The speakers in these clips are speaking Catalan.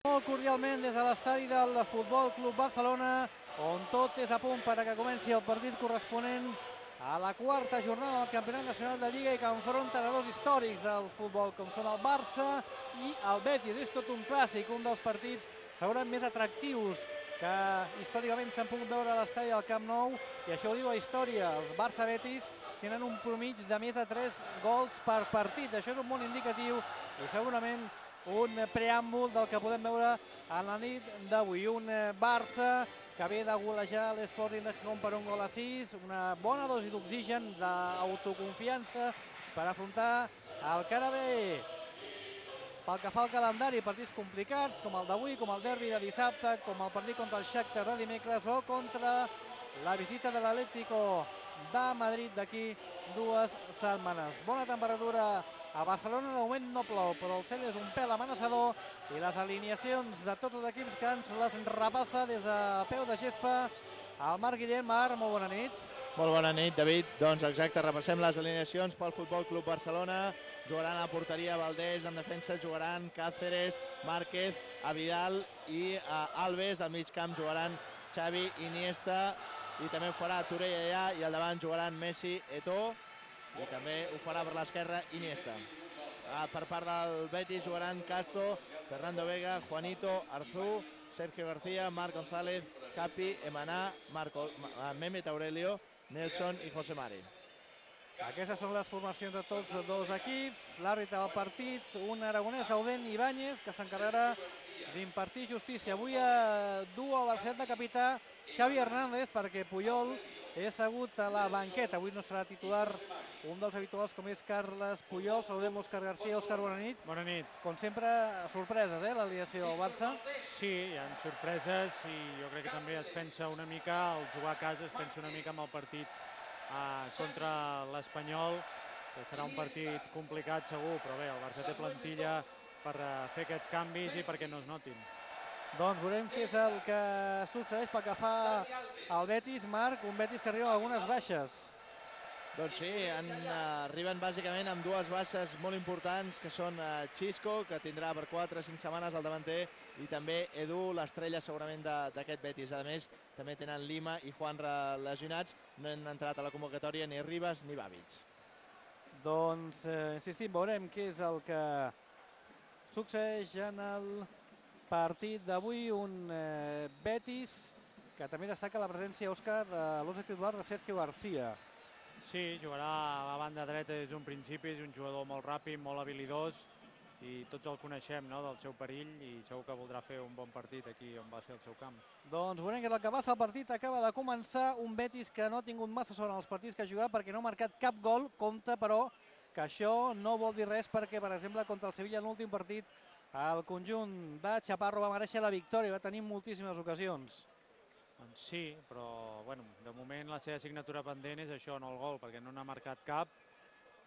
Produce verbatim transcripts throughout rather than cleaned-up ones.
Molt cordialment des de l'estadi del Futbol Club Barcelona, on tot és a punt per a que comenci el partit corresponent a la quarta jornada del Campionat Nacional de Lliga i que enfronten a dos històrics del futbol, com són el Barça i el Betis. És tot un clàssic, un dels partits segurament més atractius que històricament s'han pogut veure a l'estadi del Camp Nou, i això ho diu la història. Els Barça-Betis tenen un promig de més de tres gols per partit. Això és un molt indicatiu i segurament un preàmbul del que podem veure a la nit d'avui. Un Barça que ve de golejar l'Sporting de Gijón per un gol a sis, una bona dosi d'oxigen, d'autoconfiança per afrontar el que ara ve. Pel que fa al calendari, partits complicats, com el d'avui, com el derbi de dissabte, com el partit contra el Shakhtar de dimecres o contra la visita de l'Atlético de Madrid d'aquí dues setmanes. Bona temperatura a Barcelona, de moment no plou, però el cel és un pèl amenaçador i les alineacions de tots els equips que ens les repassa des de peu de gespa el Marc Guillem. Marc, molt bona nit. Molt bona nit, David. Doncs exacte, repassem les alineacions pel Futbol Club Barcelona. Jugaran a la porteria Valdés, en defensa jugaran Cáceres, Márquez, Avidal i Alves. Al mig camp jugaran Xavi, Iniesta, i també ho farà Touré allà, i al davant jugaran Messi, Eto'o, i també ho farà per l'esquerra Iniesta. Per part del Betis jugaran Castro, Fernando Vega, Juanito, Arzú, Sergio García, Marc González, Capi, Emaná, Mehmet Aurelio, Nelson i José Mari. Aquestes són les formacions de tots dos equips. L'àrbitre del partit, un aragonès, Dauden Ibáñez, que s'encarregarà d'impartir justícia. Avui du a la set de capità Xavi Hernández, perquè Puyol és assegut a la banqueta. Avui no serà titular un dels habituals, com és Carles Puyol. Saludem Òscar García. Òscar, bona nit. Bona nit. Com sempre, sorpreses, eh, l'alineació del Barça? Sí, hi ha sorpreses i jo crec que també es pensa una mica, al jugar a casa, es pensa una mica en el partit contra l'Espanyol, que serà un partit complicat segur, però bé, el Barça té plantilla per fer aquests canvis i perquè no es notin. Doncs veurem què és el que succeeix pel que fa al Betis. Marc, un Betis que arriba a algunes baixes. Doncs sí, arriben bàsicament amb dues baixes molt importants, que són Xisco, que tindrà per quatre o cinc setmanes al davanter, i també Edu, l'estrella segurament d'aquest Betis. A més, també tenen Lima i Juan lesionats. No han entrat a la convocatòria ni Ribas ni Babic. Doncs, insistim, veurem què és el que succeeix en el partit d'avui. Un Betis que també destaca la presència, Òscar, de l'onze titular de Sergio García. Sí, jugarà a la banda dreta des d'un principi, és un jugador molt ràpid, molt habilidós, i tots el coneixem del seu perill, i segur que voldrà fer un bon partit aquí on va ser el seu camp. Doncs veurem que el que passa al partit. Acaba de començar un Betis que no ha tingut massa sort en els partits que ha jugat perquè no ha marcat cap gol. Compte, però, que això no vol dir res perquè, per exemple, contra el Sevilla en l'últim partit, el conjunt de Chaparro va mereixer la victòria, va tenir moltíssimes ocasions. Doncs sí, però de moment la seva assignatura pendent és això, no el gol, perquè no n'ha marcat cap,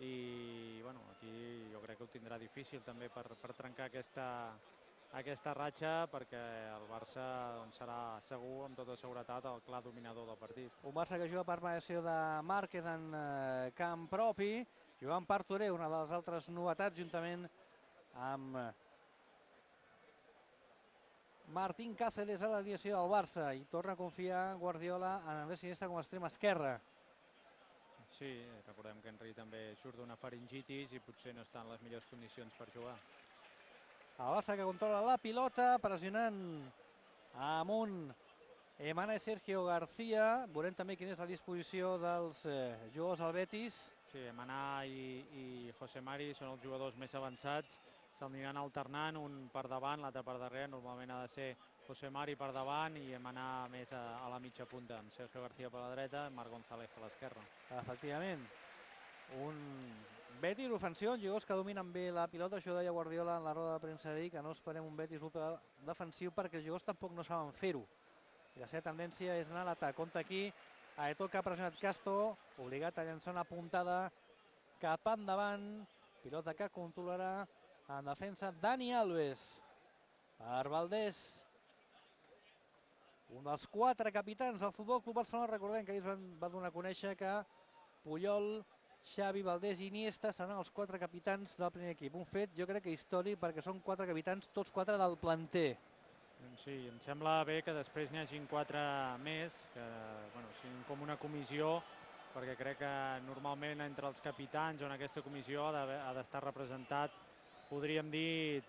i aquí jo crec que ho tindrà difícil també per trencar aquesta ratxa, perquè el Barça serà segur, amb tota seguretat, el clar dominador del partit. Un Barça que juga per mediació de Márquez en camp propi, jugant per Touré, una de les altres novetats, juntament amb Martín Cáceres a l'alineació del Barça, i torna a confiar Guardiola en Andrés Iniesta com a extrem esquerre. Sí, recordem que Henry també surt d'una faringitis i potser no està en les millors condicions per jugar. El Barça que controla la pilota, pressionant amunt Emaná i Sergio García. Veurem també quina és la disposició dels jugadors del Betis. Sí, Emaná i José Mari són els jugadors més avançats. S'aniran alternant, un per davant, l'altre per darrere. Normalment ha de ser José Mari per davant i Emaná més a la mitja punta, amb Sergio García per la dreta i Marc González per l'esquerra. Efectivament, un Betis ofensiu, jugadors que dominen bé la pilota. Això deia Guardiola en la roda de premsa d'ahir, que no esperem un Betis ultra defensiu perquè els jugadors tampoc no saben fer-ho. I la seva tendència és anar a l'atac. Compte aquí, Eto'o, que ha pressionat Castro, obligat a llançar una puntada cap endavant. Pilota que controlarà en defensa Dani Alves. Per Valdés, un dels quatre capitans del Futbol Club Barcelona. Recordem que ahir es va donar a conèixer que Puyol, Xavi, Valdés i Iniesta seran els quatre capitans del primer equip. Un fet, jo crec que històric, perquè són quatre capitans, tots quatre del planter. Sí, em sembla bé que després n'hi hagin quatre més, que bueno, siguin com una comissió, perquè crec que normalment entre els capitans o en aquesta comissió ha d'estar representat, podríem dir,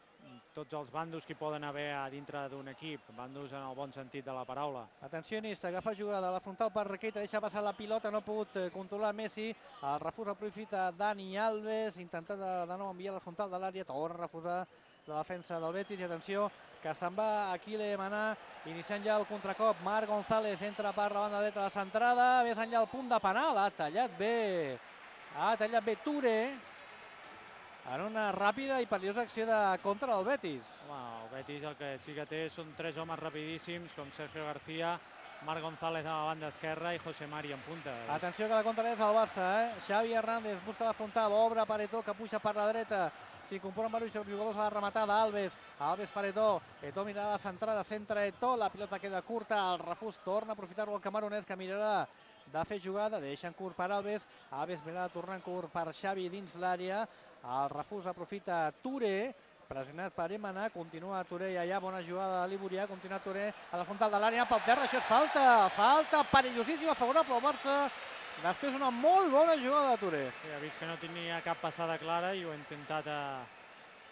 tots els bandos que hi poden haver a dintre d'un equip, bandos en el bon sentit de la paraula. Atenció, Iniesta, agafa jugada a la frontal per Keita, deixa passar la pilota, no ha pogut controlar Messi, el refús aprofita Dani Alves, intentant de, de nou enviar la frontal de l'àrea, torna a refusar la defensa del Betis, i atenció, que se'n va Aquile Maná, iniciant ja el contracop, Marc González entra per la banda dreta de la centrada, més enllà el punt de penal, ha tallat bé, ha tallat bé Touré, en una ràpida i perillosa acció de contra del Betis. Home, el Betis el que sí que té són tres homes rapidíssims, com Sergio García, Marc González a la banda esquerra i José Mari en punta. Atenció que la contra és el Barça, eh? Xavi Hernández busca la frontal, obre Paretó, que puja per la dreta, s'hi componen diversos jugadors a la rematada, Alves, Alves Paretó, Eto'o mirarà la centrada, centra Eto'o, la pilota queda curta, el refús torna a aprofitar-ho el camaronès, que mirarà de fer jugada, deixen curt per Alves, Alves mirarà de tornar curt per Xavi dins l'àrea, el refús aprofita Touré, pressionat per Emaná, continua Touré i allà, bona jugada de Liburià, continua Touré a la frontal de l'àrea, pel terra, això és falta, falta perillosíssima, favorable al Barça, després una molt bona jugada de Touré. Sí, ha vist que no tenia cap passada clara i ho ha intentat a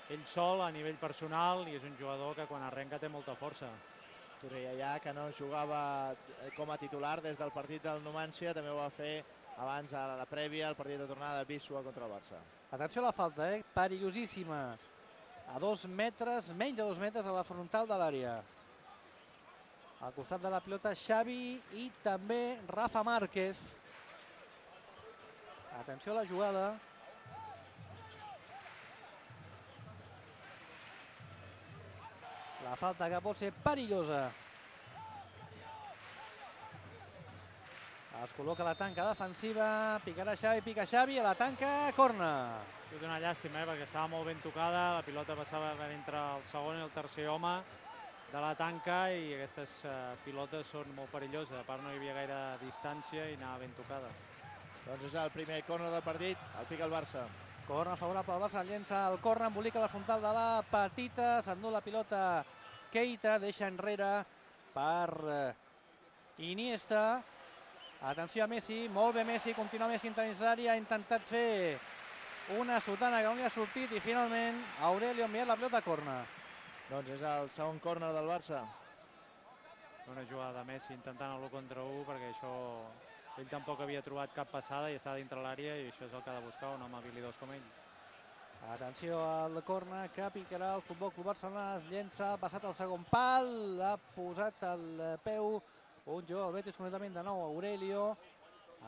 ell sol a nivell personal i és un jugador que quan arrenca té molta força. Touré allà, que no jugava com a titular des del partit del Numancia, també ho va fer abans a la prèvia, el partit de tornada de Bisua contra el Barça. Atenció a la falta, eh? Perillosíssima. A dos metres, menys de dos metres a la frontal de l'àrea. Al costat de la pilota Xavi i també Rafa Márquez. Atenció a la jugada. La falta que pot ser perillosa. Es col·loca la tanca defensiva, picarà Xavi, pica Xavi, a la tanca, corna. És una llàstima, eh, perquè estava molt ben tocada, la pilota passava entre el segon i el tercer home de la tanca i aquestes uh, pilotes són molt perilloses, a part no hi havia gaire distància i anava ben tocada. Doncs és el primer córner del partit, el pica el Barça. Corna favorable al Barça, llença el corna, embolica la frontal de la petita, s'endú la pilota Keita, deixa enrere per uh, Iniesta. Atenció a Messi, molt bé Messi, continua Messi dins l'àrea, ha intentat fer una sotana que no li ha sortit i finalment Aurelio ha enviat la pilota a corna. Doncs és el segon córner del Barça. Una jugada de Messi intentant l'u contra u perquè això ell tampoc havia trobat cap passada i estava dintre l'àrea i això és el que ha de buscar un home habilidós com ell. Atenció al corna que picarà el Futbol Club Barcelona, es llença, ha passat el segon pal, ha posat el peu un jugador del Betis, completament de nou, Aurelio,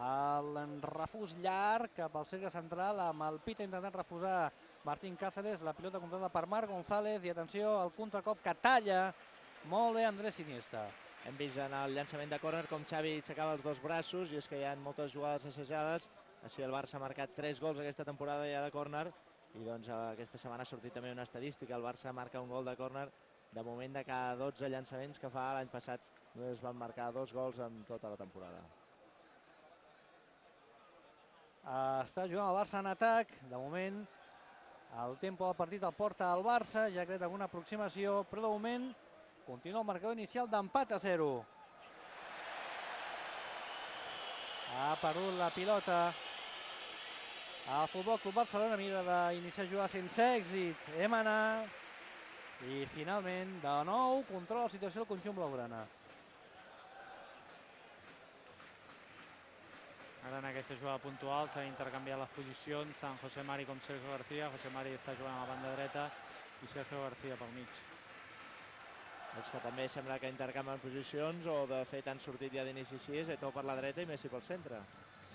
el refús llarg cap al cercle central, amb el pit intentant refusar Martín Cáceres, la pilota controlada per Marc González, i atenció al contracop que talla molt bé Andrés Iniesta. Hem vist en el llançament de córner com Xavi aixecava els dos braços i és que hi ha moltes jugades assajades, així el Barça ha marcat tres gols aquesta temporada ja de córner i doncs aquesta setmana ha sortit també una estadística, el Barça marca un gol de córner de moment de cada dotze llançaments que fa. L'any passat només van marcar dos gols en tota la temporada. Està jugant el Barça en atac, de moment el tempo del partit el porta al Barça, ja ha creat alguna aproximació, però de moment continua el marcador inicial d'empat a zero. Ha perdut la pilota el Futbol Club Barcelona, mira d'iniciar a jugar sense èxit, Emaná, i finalment de nou controla la situació del conjunt blaugrana. Ara en aquesta jugada puntual s'han intercanviat les posicions, tant José Mari com Sergio García. José Mari està jugant a la banda dreta i Sergio García pel mig. Els que també sembla que intercanvien posicions, o de fet han sortit ja d'inici així, és Eto'o per la dreta i Messi pel centre.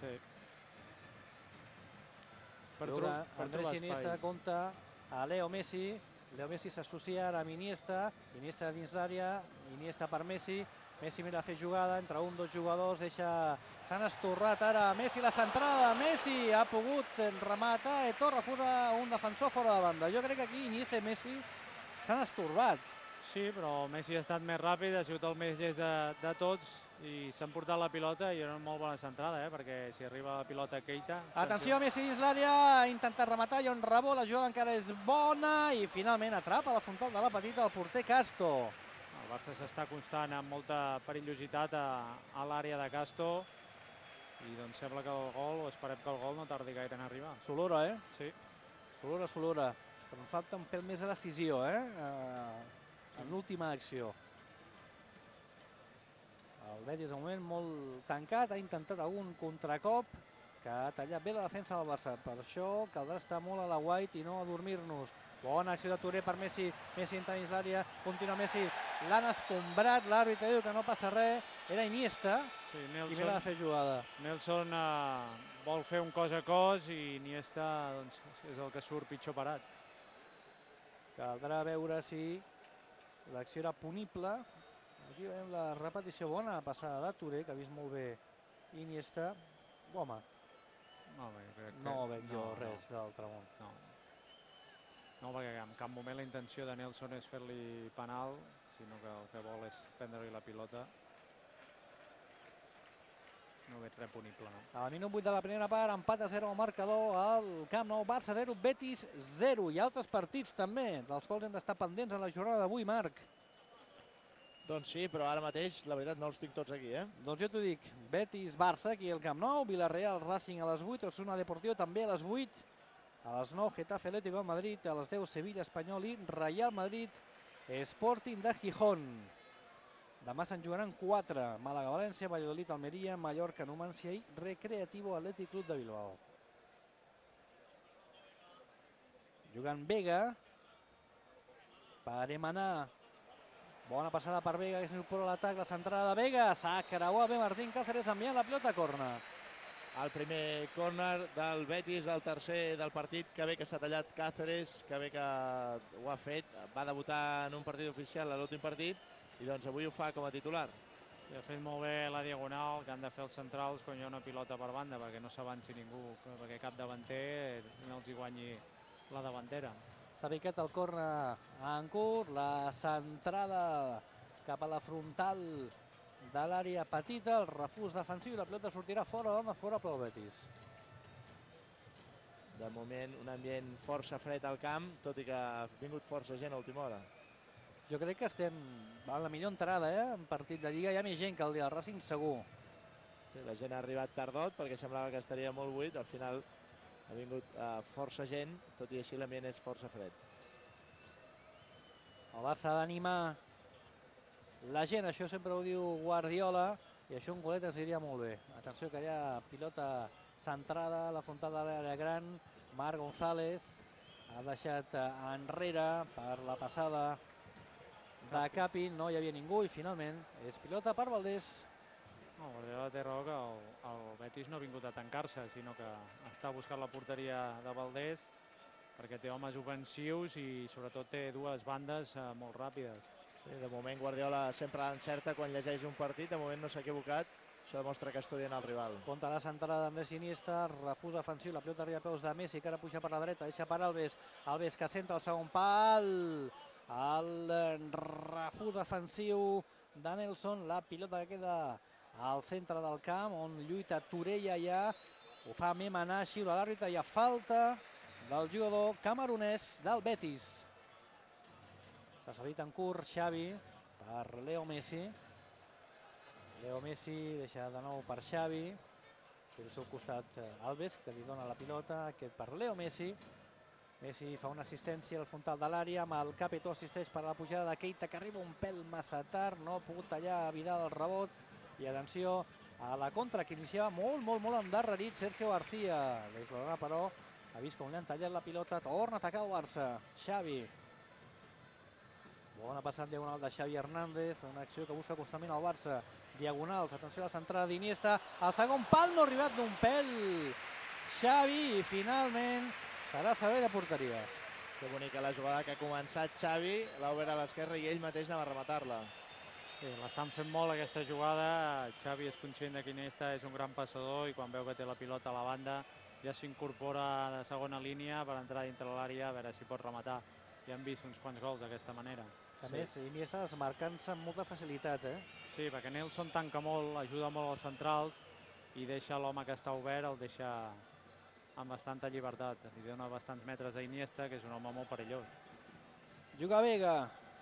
Sí. Per Andrés Iniesta compta a Leo Messi. Leo Messi s'associa ara amb Iniesta. Iniesta dins l'àrea, Iniesta per Messi. Messi mira a fer jugada entre un, dos jugadors, deixa... S'han estorrat ara Messi, la centrada de Messi, ha pogut rematar, Eto'o refusa un defensor fora de banda. Jo crec que aquí Iniesta i Messi s'han estorbat. Sí, però Messi ha estat més ràpid, ha sigut el més llest de, de tots i s'han portat la pilota i era una molt bona centrada, eh, perquè si arriba la pilota Keita... Atenció, Messi dins l'àrea, ha intentat rematar, hi ha un rebot, la jugada encara és bona i finalment atrapa la frontal de la petita el porter Casto. El Barça s'està acostant amb molta perillositat a l'àrea de Castro i doncs sembla que el gol, o esperem que el gol no tardi gaire en arribar. S'olora, eh? Sí. S'olora, s'olora. Però em falta un pèl més de decisió, eh? En l'última acció. El Betis, de moment, molt tancat. Ha intentat algun contracop que ha tallat bé la defensa del Barça. Per això caldrà estar molt a la guait i no adormir-nos. Bona acció de Touré per Messi. Messi entra dins l'àrea. Continua Messi. L'han escombrat. L'àrbitre diu que no passa res. Era Iniesta. Sí, I Nelson, ve de fer jugada. Nelson eh, vol fer un cos a cos i Iniesta doncs, és el que surt pitjor parat. Caldrà veure si l'acció era punible. Aquí veiem la repetició bona passada de Touré, que ha vist molt bé Iniesta. Home, No, bé, crec que... no veig jo no, res no. d'altre món. No. No, perquè en cap moment la intenció de Nelson és fer-li penal, sinó que el que vol és prendre-li la pilota. No veig res punible, no? Al minut vuit de la primera part, empat a zero al marcador al Camp Nou. Barça zero, Betis zero. I altres partits també, dels quals hem d'estar pendents en la jornada d'avui, Marc. Doncs sí, però ara mateix, la veritat, no els tinc tots aquí, eh? Doncs jo t'ho dic, Betis-Barça aquí al Camp Nou, Villarreal-Racing a les vuit, Osasuna Deportivo també a les vuit, a les nou Getafe Atlético de Madrid, a les deu Sevilla-Espanyol i Real Madrid Sporting de Gijón. Demà se'n jugaran quatre, Màlaga-València, Valladolid-Almeria, Mallorca-Numancia i Recreativo Athletic Club de Bilbao. Jugant Vega, per Emanar. Bona passada per Vega, que s'incorpora a l'atac, la centrada de Vega, s'ha creuat bé Martín Cáceres enviant la pilota a córner. El primer córner del Betis, el tercer del partit, que bé que s'ha tallat Cáceres, que bé que ho ha fet, va debutar en un partit oficial a l'últim partit i doncs avui ho fa com a titular. I ha fet molt bé la diagonal que han de fer els centrals quan hi ha una pilota per banda, perquè no s'avanci ningú, perquè cap davanter no els hi guanyi la davantera. S'ha picat el córner en curt, la centrada cap a la frontal de l'àrea petita, el refús defensiu i la pilota sortirà fora, de fora pel Betis. De moment un ambient força fred al camp, tot i que ha vingut força gent a última hora. Jo crec que estem a la millor entrada, eh? En partit de Lliga hi ha més gent que el dia del Racing, segur. Sí, la gent ha arribat tardot perquè semblava que estaria molt buit, al final ha vingut uh, força gent, tot i així l'ambient és força fred. El Barça ha d'animar la gent, això sempre ho diu Guardiola, i això un golet ens diria molt bé. Atenció que hi ha pilota centrada a la frontal de l'àrea gran, Marc González ha deixat enrere per la passada de Capi, no hi havia ningú i finalment és pilota per Valdés. No, Guardiola té raó que el, el Betis no ha vingut a tancar-se, sinó que està buscant la porteria de Valdés perquè té homes ofensius i sobretot té dues bandes eh, molt ràpides. Sí, de moment Guardiola sempre l'encerta quan llegeix un partit, de moment no s'ha equivocat, això demostra que estudien el rival. Contra la centrada d'Andrés Iniesta, refús defensiu, la pilota arriba a peus de Messi, que ara puja per la dreta, deixa per Alves, Alves que centra el segon pal, el refús defensiu de Nelson, la pilota que queda al centre del camp, on lluita Touré i allà, ho fa Emanar, xiula l'àrbitre, hi ha falta del jugador camerunès del Betis. S'ha servit en curt Xavi per Leo Messi. Leo Messi deixa de nou per Xavi. Té al seu costat Alves, que li dona la pilota. Aquest per Leo Messi. Messi fa una assistència al frontal de l'àrea, amb el Capitó assisteix per la pujada de Keita, que arriba un pèl massa tard, no ha pogut tallar Vidal el rebot. I atenció a la contra, que iniciava molt, molt, molt endarrerit Sergio García. L'explorarà, però, ha vist com li han tallat la pilota, torna a atacar el Barça. Xavi. Bona passada diagonal de Xavi Hernández, una acció que busca constantment al Barça. Diagonals, atenció a la centrada d'Iniesta, el segon pal no ha arribat d'un pèl Xavi i finalment serà servei de porteria. Que bonica la jugada que ha començat Xavi, l'ha obert a l'esquerra i ell mateix anava a rematar-la. Sí, l'estan fent molt aquesta jugada, Xavi és conscient que Iniesta és un gran passador i quan veu que té la pilota a la banda ja s'incorpora a la segona línia per entrar dintre l'àrea a veure si pot rematar. Ja hem vist uns quants gols d'aquesta manera. A més, Iniesta desmarcant-se amb molta facilitat, eh? Sí, perquè Nelson tanca molt, ajuda molt als centrals i deixa l'home que està obert, el deixa amb bastanta llibertat. Li dona bastants metres a Iniesta, que és un home molt perillós. Juga Vega,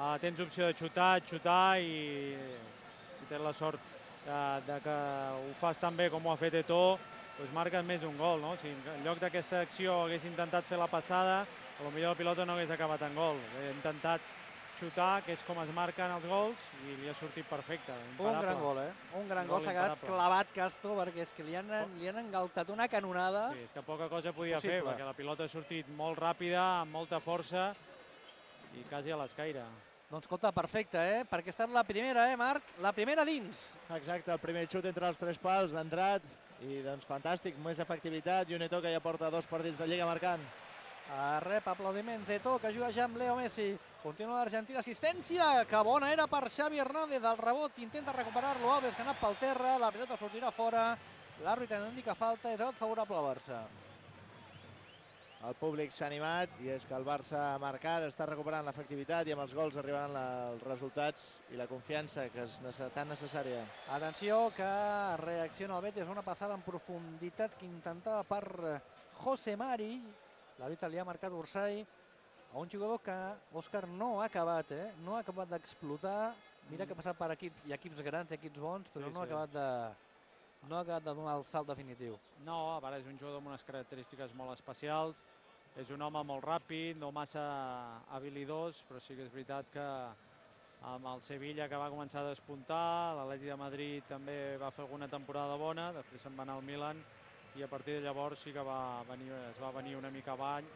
uh, tens opció de xutar, xutar i si tens la sort de, de que ho fas tan bé com ho ha fet Eto'o, doncs marques més un gol, no? Si en lloc d'aquesta acció hagués intentat fer la passada, potser la pilota no hagués acabat en gol. He intentat xutar, que és com es marquen els gols, i li ha sortit perfecte, imparable. Un gran gol, eh? Un gran gol, s'ha quedat clavat Castro, perquè és que li han, li han engaltat una canonada. Sí, és que poca cosa podia fer, perquè la pilota ha sortit molt ràpida, amb molta força, i quasi a l'escaire. Doncs escolta, perfecte, eh? Perquè ha estat la primera, eh, Marc? La primera dins. Exacte, el primer xut entre els tres pals d'entrat, i doncs fantàstic, més efectivitat, i un Eto'o que ja porta dos partits de Lliga marcant. Rep aplaudiments Eto'o, que juga ja amb Leo Messi. Continua l'Argentina, assistència, que bona era per Xavi Hernández. El rebot intenta recuperar-lo Alves, que ha anat pel terra, la pilota sortirà fora. L'àrbitre no indica falta, és rebot favorable al Barça. El públic s'ha animat i és que el Barça ha marcat, està recuperant l'efectivitat i amb els gols arribaran els resultats i la confiança que és tan necessària. Atenció, que reacciona el Betis, una passada en profunditat que intentava per José Mari. L'àrbitre li ha marcat Ursay a un jugador que, Òscar, no ha acabat, eh? No ha acabat d'explotar. Mira que ha passat per equips, i equips grans i equips bons, però Sí, no ha sí. acabat de... no ha acabat de donar el salt definitiu. No, a part és un jugador amb unes característiques molt especials, és un home molt ràpid, no massa habilidós, però sí que és veritat que amb el Sevilla, que va començar a despuntar, l'Atleti de Madrid també va fer alguna temporada bona, després se'n va anar al Milan, i a partir de llavors sí que va venir, es va venir una mica avall,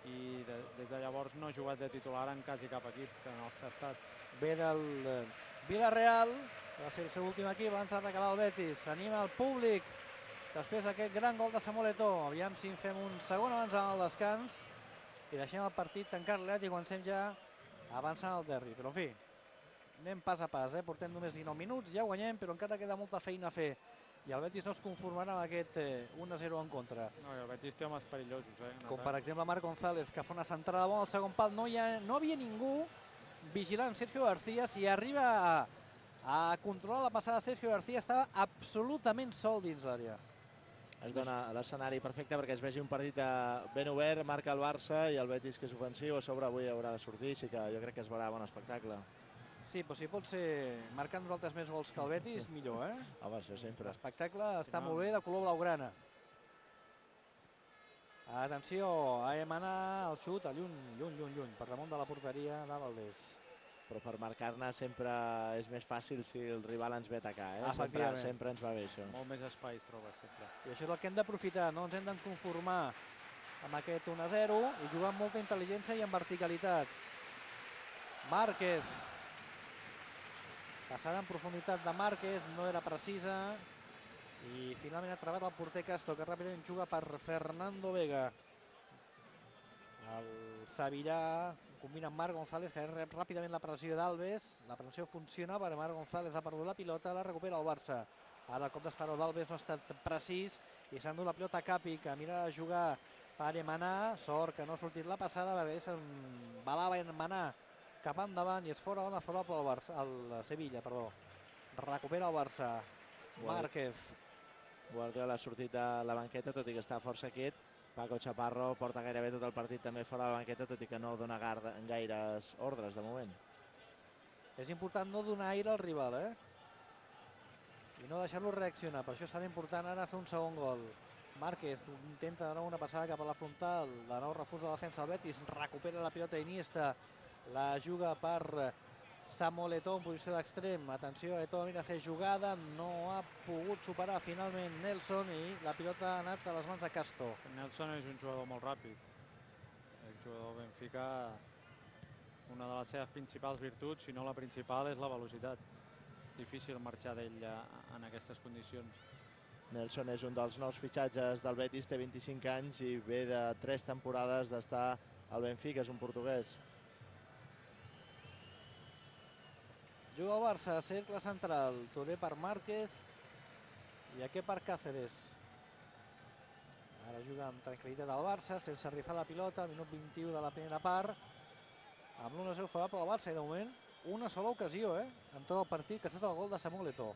i de, des de llavors no ha jugat de titular en quasi cap equip que en els que ha estat. Ve del eh, Villarreal, que va ser el seu últim equip abans de recalar el Betis. S'anima el públic després d'aquest gran gol de Samuel Eto'o. Aviam si en fem un segon abans del descans i deixem el partit tancat-let i comencem ja avançant al derbi. Però en fi, anem pas a pas, eh? Portem només dinou minuts, ja guanyem, però encara queda molta feina a fer. I el Betis no es conformarà amb aquest eh, un a zero en contra. No, el Betis té homes perillosos, eh? Com per exemple Marc González, que fa una centrada bona al segon pal. No hi ha, no havia ningú vigilant Sergio García. Si arriba a, a controlar la passada Sergio García, estava absolutament sol dins l'àrea. Es dona l'escenari perfecte perquè es vegi un partit ben obert, marca el Barça i el Betis, que és ofensiu, a sobre avui haurà de sortir, així que jo crec que es veurà bon espectacle. Sí, però si pot ser marcant nosaltres més gols que el Betis, millor, eh? Home, això sempre. L'espectacle està molt bé, de color blaugrana. Atenció, a Emanar, el xut, a lluny, lluny, lluny, lluny, per damunt de la porteria de Valdés. Però per marcar-ne sempre és més fàcil si el rival ens ve a atacar, eh? Sempre, Efectivament. sempre ens va bé això. Molt més espai es troba sempre. I això és el que hem d'aprofitar, no ens hem de conformar amb aquest un a zero i jugar amb molta intel·ligència i amb verticalitat. Márquez. Passada en profunditat de Márquez, no era precisa. I finalment ha trebat el porter Castro, que ràpidament juga per Fernando Vega. El Sevillà combina amb Marc González, que rep ràpidament la pressió d'Alves. La pressió funciona, perquè Marc González ha perdut la pilota, la recupera el Barça. Ara el cop d'esperó d'Alves no ha estat precís i s'ha endut la pilota a Capi, que mira a jugar per Emanar. Sort que no ha sortit la passada, perquè s'embalava Emanar cap endavant i és fora bona favorable al Barça, al Sevilla, perdó. Recupera el Barça. Márquez. Guardiola ha sortit de la banqueta, tot i que està força quiet. Paco Chaparro porta gairebé tot el partit també fora de la banqueta, tot i que no dona gaires ordres de moment. És important no donar aire al rival, eh? I no deixar-lo reaccionar. Per això serà important ara fer un segon gol. Márquez intenta de nou una passada cap a la frontal. De nou refús de la defensa del Betis. Recupera la pilota Iniesta. La juga per Samuel Eto'o en posició d'extrem. Atenció, Eto'o mira a fer jugada. No ha pogut superar finalment Nelson i la pilota ha anat a les mans de Castro. Nelson és un jugador molt ràpid. El jugador del Benfica, una de les seves principals virtuts, si no la principal, és la velocitat. Difícil marxar d'ell en aquestes condicions. Nelson és un dels nous fitxatges del Betis, té vint-i-cinc anys i ve de tres temporades d'estar al Benfica, és un portuguès. Juga el Barça, cercle central. Touré per Márquez i aquest per Cáceres. Ara juga amb tranquil·litat al Barça, sense rifar la pilota, minut vint-i-u de la primera part. Amb l'un a zero favorable al Barça i de moment una sola ocasió, eh? En tot el partit, que ha estat el gol de Samuel Eto'o.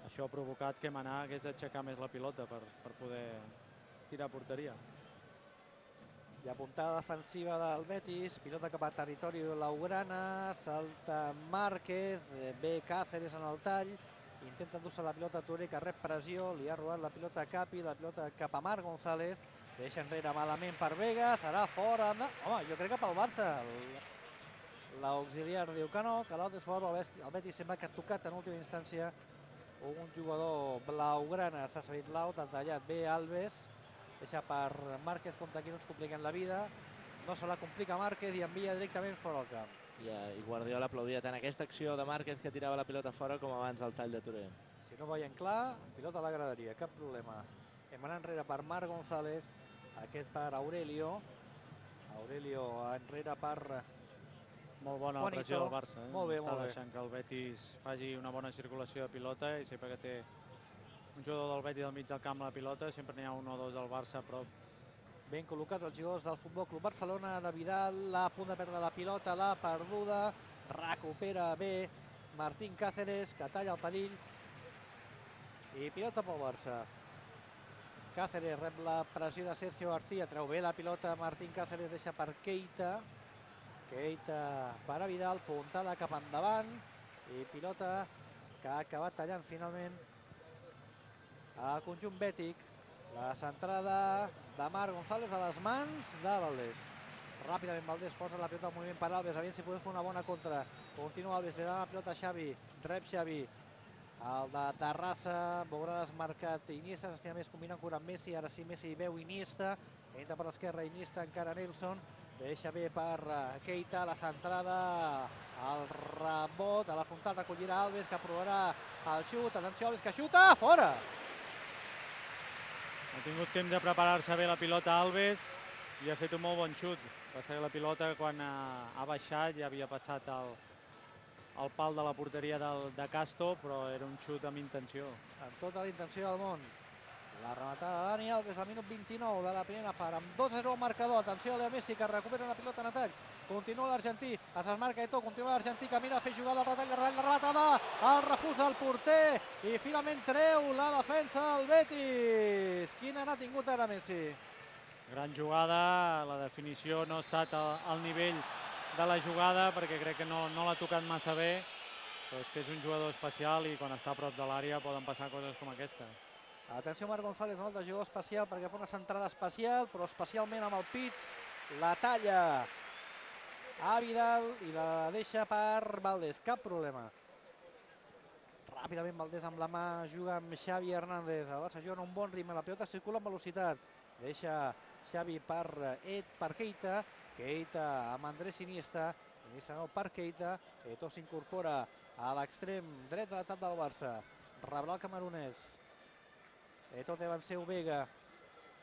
això ha provocat que Manà hagués d'aixecar més la pilota per, per poder tirar a porteria. I a puntada defensiva del Betis, pilota cap a territori blaugrana, salta Márquez, ve Cáceres en el tall, intenta endur-se la pilota a Touré, que rep pressió, li ha robat la pilota a Capi, la pilota cap a Marc González, deixa enrere malament per Vega, serà fora, home, jo crec que pel Barça, l'auxiliar diu que no, que l'altre és fort, el Betis sembla que ha tocat en última instància un jugador blaugrana, s'ha seguit l'out, ha tallat bé Alves, deixa per Márquez, compte aquí no ens compliquen la vida, no se la complica Márquez i envia directament fora al camp. I Guardiola aplaudia tant aquesta acció de Márquez que tirava la pilota fora com abans el tall de Touré. Si no veiem clar, pilota a la graderia, cap problema. Hem anat enrere per Marc González, aquest per Aurelio, Aurelio enrere per... Molt bona la pressió del Barça. Molt bé, molt bé. Està deixant que el Betis faci una bona circulació de pilota i sempre que té un jugador del Betis al mig del camp a la pilota, sempre n'hi ha un o dos del Barça a prop. Ben col·locats els jugadors del Futbol Club Barcelona, de Vidal, a punt de perdre la pilota, l'ha perduda, recupera bé Martín Cáceres, que talla el perill, i pilota pel Barça. Cáceres rep la pressió de Sergio García, treu bé la pilota, Martín Cáceres deixa per Keita, Keita per a Vidal, puntada cap endavant, i pilota que ha acabat tallant finalment al conjunt bètic. La centrada de Marc González a les mans de Valdés. Ràpidament Valdés posa la pilota en moviment per Alves, aviam si podem fer una bona contra. Continua Alves, li dona la pilota a Xavi, rep Xavi. El de Terrassa, veurà desmarcat Iniesta, s'estima més combinant amb Messi, ara sí Messi veu Iniesta, entra per l'esquerra Iniesta, encara Nelson, deixa bé per Keita, la centrada, el rebot, a la frontal recollirà Alves, que provarà el xut, atenció Alves, que xuta, fora! Ha tingut temps de preparar-se bé la pilota Alves i ha fet un molt bon xut. Passa que la pilota quan ha, ha baixat ja havia passat el, el pal de la porteria del, de Castro, però era un xut amb intenció. Amb tota la intenció del món. La rematada de Dani Alves al minut vint-i-nou de la primera part, amb dos a zero al marcador. Atenció a Leo Messi, que recupera la pilota en atac. Continua l'argentí, es desmarca Eto'o, continua l'argentí, que mira a fer jugar el retall, la rematada, el refús del porter, i finalment treu la defensa del Betis. Quina n'ha tingut ara Messi? Gran jugada, la definició no ha estat al nivell de la jugada, perquè crec que no, no l'ha tocat massa bé, però és que és un jugador especial i quan està a prop de l'àrea poden passar coses com aquesta. Atenció Marc González, un altre jugador especial, perquè fa una centrada especial, però especialment amb el pit, la talla a Vidal i la deixa per Valdés, cap problema. Ràpidament Valdés amb la mà, juga amb Xavi Hernández, el Barça juga en un bon ritme, la pilota circula amb velocitat, deixa Xavi per Ed, per Keita, Keita amb Andrés Iniesta, Iniesta no per Keita, Eto'o s'incorpora a l'extrem dret de l'atac del Barça, rebrà el camerunès, Eto'o té davant seu Vega,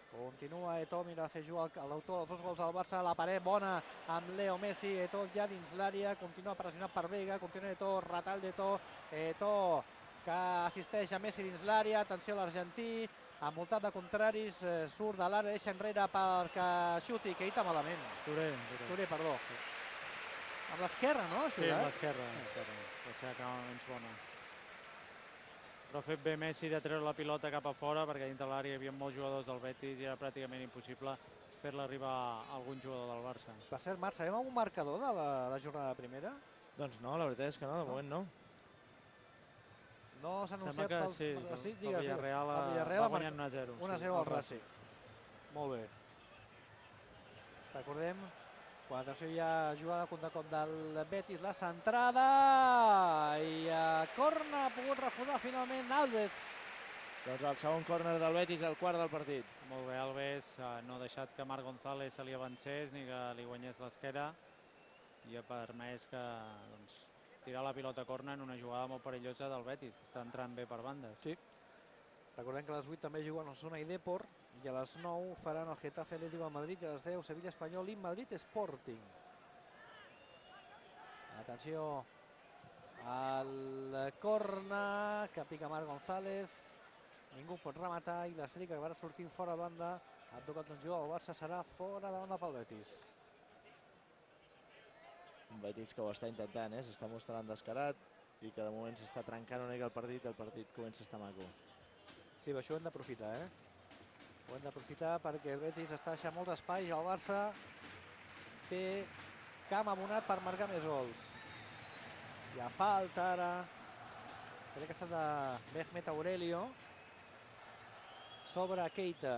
continua Eto'o, mira a fer jugar l'autor dels dos gols del Barça, la paret bona amb Leo Messi, Eto'o ja dins l'àrea, continua pressionat per Vega, continua Eto'o, retall d'Eto'o, Eto'o que assisteix a Messi dins l'àrea, atenció a l'argentí, envoltat de contraris, surt de l'àrea, deixa enrere perquè xuti, Keita malament. Touré. Touré, perdó. Amb l'esquerra, no? Sí, amb l'esquerra. La seva cama menys bona. Però ha fet bé Messi de treure la pilota cap a fora, perquè dintre l'àrea hi havia molts jugadors del Betis i era pràcticament impossible fer-la arribar a algun jugador del Barça. Per cert, Marc, sabem algun marcador de la, la jornada primera? Doncs no, la veritat és que no, de no. moment no. No s'ha anunciat pels... Sí, sí, el Villarreal va guanyant un a zero. un a zero al Racing. Molt bé. Recordem, quan atenció hi ha jugada contra cop del Betis, la centrada i a corna ha pogut refusar finalment Alves. Doncs el segon córner del Betis, el quart del partit. Molt bé, Alves no ha deixat que Marc González se li avancés ni que li guanyés l'esquera i ha permès que doncs, tirar la pilota a corna en una jugada molt perillosa del Betis, que està entrant bé per bandes. Sí. Recordem que a les vuit també juguen Osasuna i Depor i a les nou faran el Getafe Atlético de Madrid i a les deu Sevilla Espanyol i Madrid Sporting. Atenció al corna que pica Marc González, ningú pot rematar i l'esfera que va sortint fora de banda, ha tocat un jugador, el Barça serà fora de banda pel Betis. Un Betis que ho està intentant, eh? S'està mostrant descarat. i que de moment s'està trencant una mica el partit, el partit comença a estar maco. Sí, però això ho hem d'aprofitar, eh? Ho hem d'aprofitar perquè el Betis està deixant molts espais i el Barça té camp abonat per marcar més gols. Hi ha falta ara. Crec que s'ha de Mehmet Aurelio sobre Keita.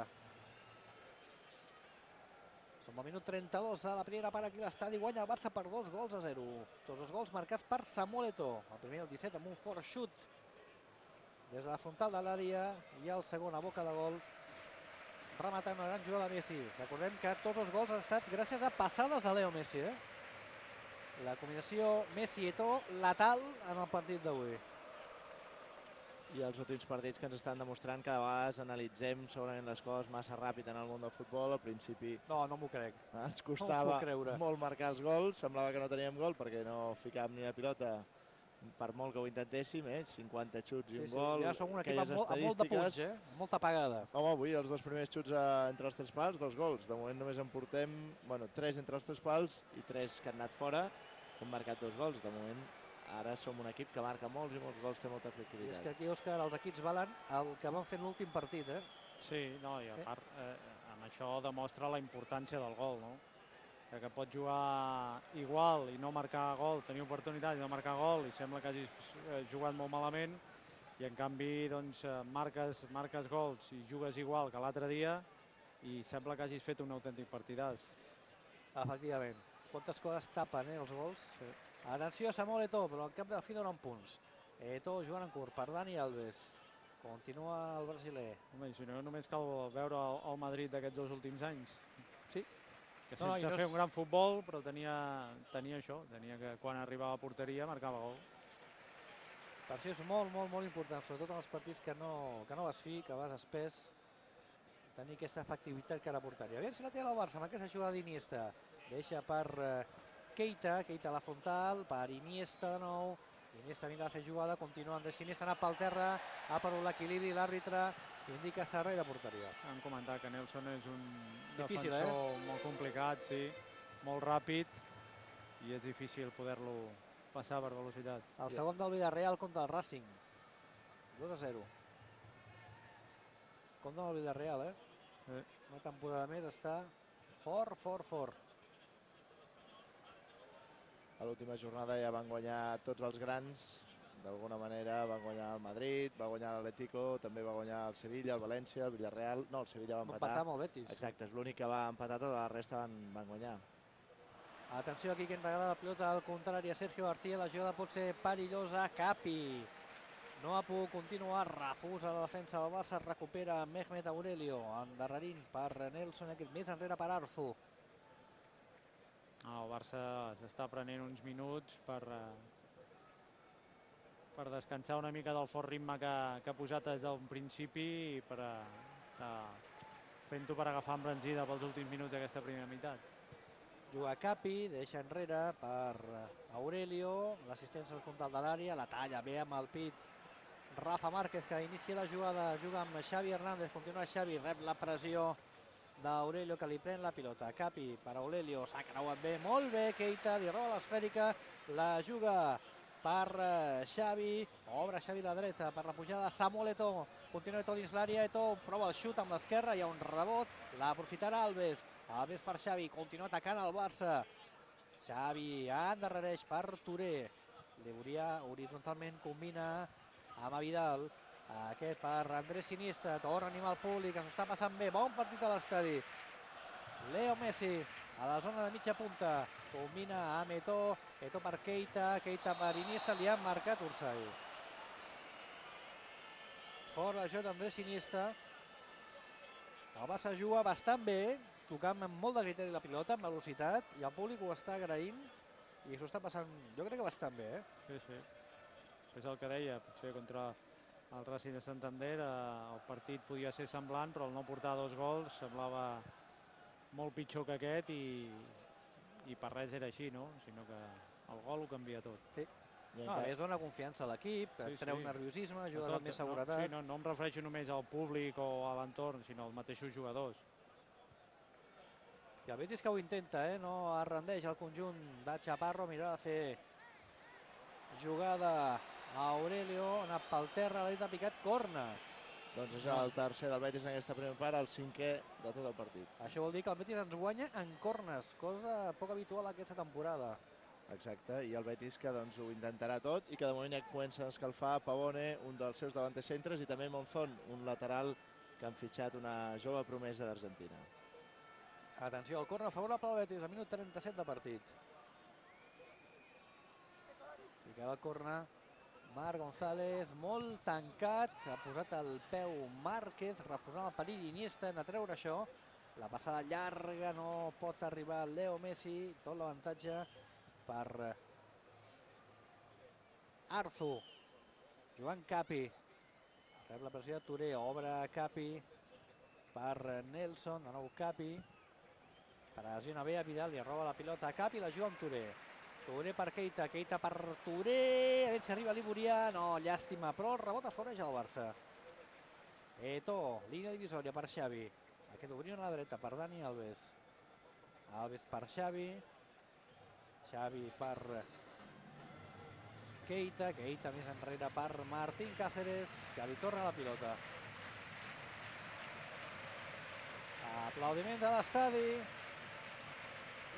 Som al minut trenta-dos a la primera part aquí a l'estadi. Guanya el Barça per dos gols a zero. Tots els gols marcats per Samuel Eto'o. El primer, el disset, amb un fort xut des de la frontal de l'àrea, i el segon a boca de gol, rematant una gran jugada de Messi. Recordem que tots els gols han estat gràcies a passades de Leo Messi. Eh? La combinació Messi-Eto'o letal en el partit d'avui. I els últims partits que ens estan demostrant que de vegades analitzem segurament les coses massa ràpid en el món del futbol. Al principi no, no m'ho crec. Ens costava no molt marcar els gols, semblava que no teníem gol perquè no ficàvem ni la pilota per molt que ho intentéssim, eh? cinquanta xuts i sí, un sí. gol. Ja som un equip amb, amb molt de punts, eh? molta pagada. Home, avui els dos primers xuts a, entre els tres pals, dos gols. De moment només en portem bueno, tres entre els tres pals i tres que han anat fora. Hem marcat dos gols. De moment ara som un equip que marca molts i molts gols, té molta efectivitat. I és que aquí, Òscar, els equips valen el que van fer l'últim partit, eh? Sí, no, i a part, eh, amb això demostra la importància del gol, no? Que pot jugar igual i no marcar gol, tenir oportunitat i no marcar gol, i sembla que hagis jugat molt malament, i en canvi, doncs, marques, marques gols i jugues igual que l'altre dia, i sembla que hagis fet un autèntic partidàs. Efectivament. Quantes coses tapen, eh, els gols? Sí. Atenció a Samuel Eto'o, però al cap de la fi donen punts. Eto'o jugant en curt per Dani Alves. Continua el brasiler. Home, si no, només cal veure el, el Madrid d'aquests dos últims anys. Sí. Que sense no, no fer és... un gran futbol, però tenia, tenia això, tenia que quan arribava a porteria marcava gol. Per això és molt, molt, molt important, sobretot en els partits que no, que no vas fi, que vas espès, tenir aquesta efectivitat cara a porteria. Aviam si la té el Barça amb aquesta jugada d'Iniesta. Deixa per eh, Keita, Keita a la frontal, per Iniesta de nou. Iniesta anirà a fer jugada, continua Andrés Iniesta, ha anat pel terra, ha perdut l'equilibri, l'àrbitre indica servei de porteria. Han comentat que Nelson és un difícil, defensor eh? molt complicat, sí, molt ràpid, i és difícil poder-lo passar per velocitat. El segon del Villarreal contra el Racing. dos a zero. Compte amb el Villarreal, eh? Sí. Una temporada més està fort, fort, fort. A l'última jornada ja van guanyar tots els grans, d'alguna manera van guanyar el Madrid, va guanyar l'Atlético, també va guanyar el Sevilla, el València, el Villarreal, no, el Sevilla va empatar. Va empatar amb el Betis. Exacte, és l'únic que va empatar, tota la resta van, van guanyar. Atenció aquí que en regala la pilota al contrari a Sergio García, la jugada pot ser perillosa, Capi. No ha pogut continuar, refusa la defensa del Barça, recupera Mehmet Aurelio, endarrerint per Nelson, aquest més enrere per Arzu. El Barça s'està prenent uns minuts per, per descansar una mica del fort ritme que, que ha posat des del principi i per estar fent-ho per agafar embranzida pels últims minuts d'aquesta primera meitat. Juga Capi, deixa enrere per Aurelio, l'assistència al frontal de l'àrea, la talla bé amb el pit Rafa Márquez, que inicia la jugada, juga amb Xavi Hernández, continua Xavi, rep la pressió d'Aurelio, que li pren la pilota. Capi per Aurelio, s'ha creuat bé, molt bé, Keita, li roba l'esfèrica, la juga per Xavi, obre Xavi la dreta per la pujada, Samuel Eto'o, continua Eto'o dins l'àrea, Eto'o prova el xut amb l'esquerra, hi ha un rebot, l'aprofitarà Alves, Alves per Xavi, continua atacant el Barça, Xavi endarrereix per Touré, Leburia horitzontalment combina amb Vidal, aquest per Andrés Iniesta, torna a animar el públic, ens està passant bé, bon partit a l'estadi. Leo Messi a la zona de mitja punta, combina amb Eto'o, Eto'o per Keita, Keita per Iniesta, li han marcat Ursay. Fort la jota d'Andrés Iniesta. El Barça juga bastant bé, tocant amb molt de criteri la pilota, amb velocitat, i el públic ho està agraint i s'ho està passant, jo crec que bastant bé, eh? Sí, sí. És el que deia, potser contra el Racing de Santander el partit podia ser semblant, però el no portar dos gols semblava molt pitjor que aquest i, i per res era així, no? Sinó que el gol ho canvia tot. Sí. No, a més dona confiança a l'equip, sí, treu sí. nerviosisme, ajuda amb més seguretat. No, sí, no, no em refereixo només al públic o a l'entorn, sinó als mateixos jugadors. I el Betis que ho intenta, eh? No es rendeix el conjunt de Chaparro, mirarà de fer jugada Aurelio, ha anat pel terra, l'ha dit, ha picat corna. Doncs és el tercer del Betis en aquesta primera part, el cinquè de tot el partit. Això vol dir que el Betis ens guanya en cornes, cosa poc habitual aquesta temporada. Exacte, i el Betis que doncs, ho intentarà tot i que de moment ja comença a escalfar Pavone, un dels seus davanters centres, i també Monzón, un lateral que han fitxat una jove promesa d'Argentina. Atenció, el corner favorable al Betis, al minut trenta-set de partit. Picava el corner Marc González, molt tancat, ha posat el peu Márquez, refusant el perill Iniesta en a treure això. La passada llarga, no pot arribar Leo Messi, tot l'avantatge per Arzu. Joan Capi, rep la pressió de Touré, obre Capi per Nelson, de nou Capi. Pressiona bé a Vidal, li roba la pilota a Capi, la juga amb Touré. Touré per Keita, Keita per Touré, a veure si arriba l'Iborià, no, llàstima, però el rebot aforeja el Barça. Eto'o, línia divisòria per Xavi, aquest obrir a la dreta per Dani Alves. Alves per Xavi, Xavi per Keita, Keita més enrere per Martín Cáceres, que li torna la pilota. Aplaudiments a l'estadi.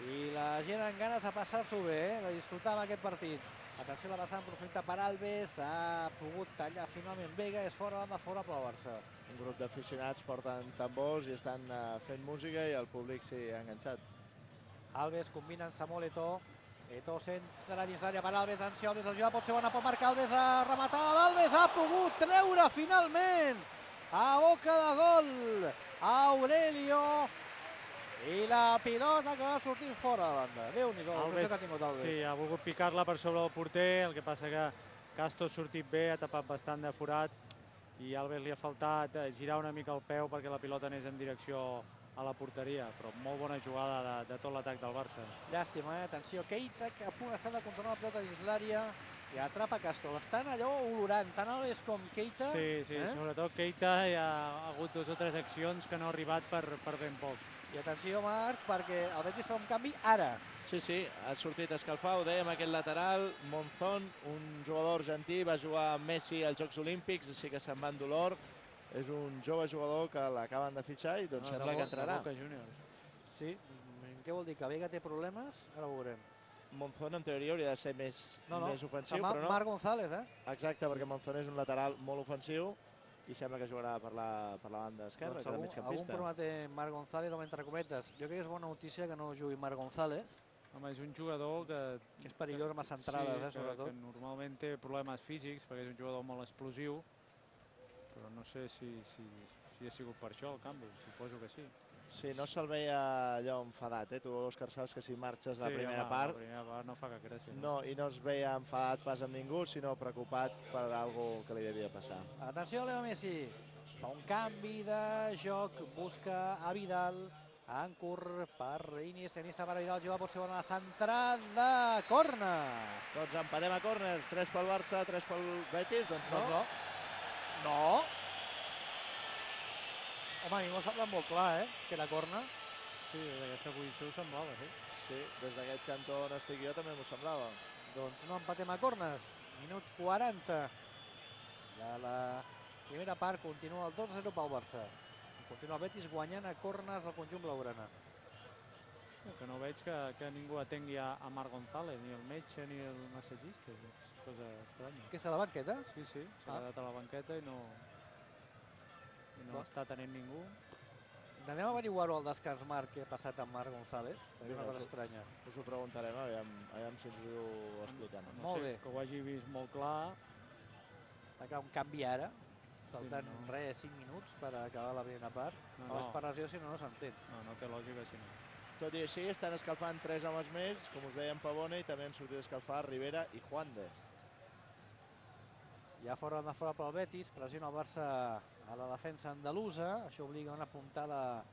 I la gent amb ganes de passar-s'ho bé, eh? de disfrutar amb aquest partit. Atenció a la passada en profunditat per Alves, ha pogut tallar finalment Vega, és fora de favorable al Barça. Un grup d'aficionats porten tambors i estan uh, fent música i el públic s'hi ha enganxat. Alves combina amb Samuel Eto'o, Eto'o centra dins l'àrea per Alves, atenció, Alves el juga, pot ser bona, pot marcar Alves, ha rematat, Alves ha pogut treure finalment a boca de gol Aurelio. I la pilota que va sortir fora de banda. Déu-n'hi-do, l'ocasió que ha tingut Alves. Sí, ha volgut picar-la per sobre del porter, el que passa que Castro ha sortit bé, ha tapat bastant de forat i Alves li ha faltat girar una mica el peu perquè la pilota anés en direcció a la porteria, però molt bona jugada de, de tot l'atac del Barça. Llàstima, eh? Atenció, Keita, que a punt està de controlar la pilota dins l'àrea i atrapa Castro. L'estan allò olorant, tant Alves com Keita. Sí, sí, eh? Sobretot Keita hi ha hagut dues o tres accions que no ha arribat per, per ben poc. I atenció, Marc, perquè el Betis fa un canvi ara. Sí, sí, ha sortit a escalfar, ho dèiem, aquest lateral, Monzón, un jugador argentí, va jugar amb Messi als Jocs Olímpics, així que se'n va en dolor. És un jove jugador que l'acaben de fitxar i doncs No, sembla de que entrarà. Boca Juniors. Sí, què vol dir? Que Vega té problemes? Ara ho veurem. Monzón en teoria hauria de ser més, No, no, més ofensiu, Mar però no. Marc González, eh? Exacte, perquè Monzón és un lateral molt ofensiu i sembla que jugarà per la, per la banda esquerra, Doncs que és algun, el algun migcampista. problema té Marc González, o entre cometes. Jo crec que és bona notícia que no jugui Marc González. Home, és un jugador que... És perillós amb les centrades, sí, eh, sobretot. Que, que normalment té problemes físics, perquè és un jugador molt explosiu, però no sé si, si, si ha sigut per això el canvi, suposo que sí. Sí, no se'l veia allò enfadat, eh? Tu, Òscar, saps que si marxes Sí, la primera home, part... La primera part no fa cap gràcia. No, i no es veia enfadat pas amb ningú, sinó preocupat per alguna que li devia passar. Atenció, Leo Messi. Fa un canvi de joc, busca a Vidal, en curt per Iniesta, Iniesta per Vidal, juga pot ser bona la centrada, corna. Doncs empatem a córners, tres pel Barça, tres pel Betis, doncs no. Doncs no. No. Home, a mi m'ho sembla molt clar, eh, que era corna. Sí, des d'aquesta posició ho semblava, sí. Sí, des d'aquest cantó on estic jo també m'ho semblava. Doncs no empatem a cornes. Minut quaranta de la primera part, continua el dos a zero pel Barça. Continua el Betis guanyant a cornes del conjunt blaugrana. Sí, que no veig que, que ningú atengui a, a Marc González, ni el metge ni el massatgista. És cosa estranya. Aquesta a la banqueta? Sí, sí, s'ha Ah. quedat a la banqueta i no, i no Va. està tenint ningú. Anem a averiguar-ho al descans, Marc, què ha passat amb Marc González. És una Vinga, cosa sí. estranya. Us ho preguntarem, aviam, aviam si ens ho expliquem. No Molt sé, bé. que ho hagi vist molt clar. Va quedar un canvi ara, faltant no. res, cinc minuts per acabar la primera part. No, No, no. per lesió, si no, no s'entén. No, no té lògica, si no. Tot i així, estan escalfant tres homes més, com us deia en Pavone, i també han sortit a escalfar Rivera i Juande. Ja fora de fora pel Betis, pressiona el Barça a la defensa andalusa. Això obliga a una puntada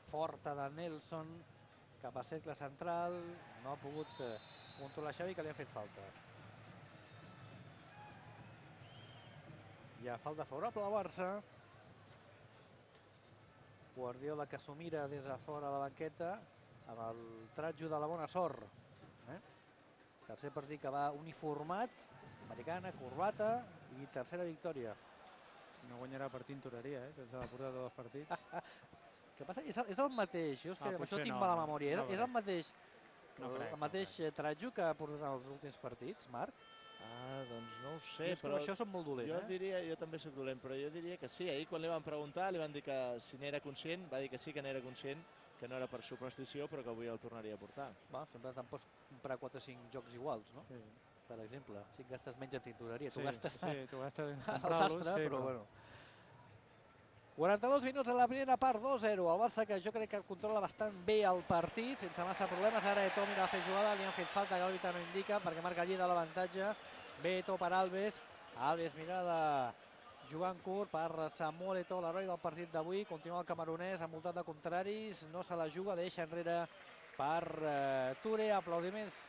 forta de Nelson cap a cercle central. No ha pogut eh, controlar Xavi, que li han fet falta. Hi ha falta favorable al Barça. Guardiola que s'ho mira des de fora de la banqueta amb el tratjo de la bona sort. Eh? Tercer partit que va uniformat. americana, corbata i tercera victòria. No guanyarà per tintoreria, eh, que s'ha portat dos partits. Què passa? És el, és el mateix, jo és que Ah, amb això potser tinc no, mala no, memòria. no És, és el crec. mateix, No crec, el no mateix crec. Trajo que ha portat els últims partits, Marc? Ah, doncs no ho Jo sé, és que però amb això som molt dolent, jo eh? diria, jo també soc dolent, però jo diria que sí. Ahir quan li van preguntar, li van dir que si n'era conscient, va dir que sí que n'era conscient, que no era per superstició, però que avui el tornaria a portar. Va, sempre te'n pots comprar quatre o cinc jocs iguals, no? Sí. Per exemple, si gastes menys en tintoreria, tu Sí, gastes sí, tu gastes en al comprar-los, sastre, sí, però bueno. quaranta-dos minuts a la primera part, dos zero. El Barça, que jo crec que controla bastant bé el partit, sense massa problemes. Ara Eto'o mira a fer jugada, li han fet falta, que l'àrbitre no indica, perquè marca allí de l'avantatge. Bé Eto'o per Alves. Alves mira de jugar en curt per Samuel Eto'o, l'heroi del partit d'avui. Continua el camerunès envoltat de contraris, no se la juga, deixa enrere per eh, Touré. Aplaudiments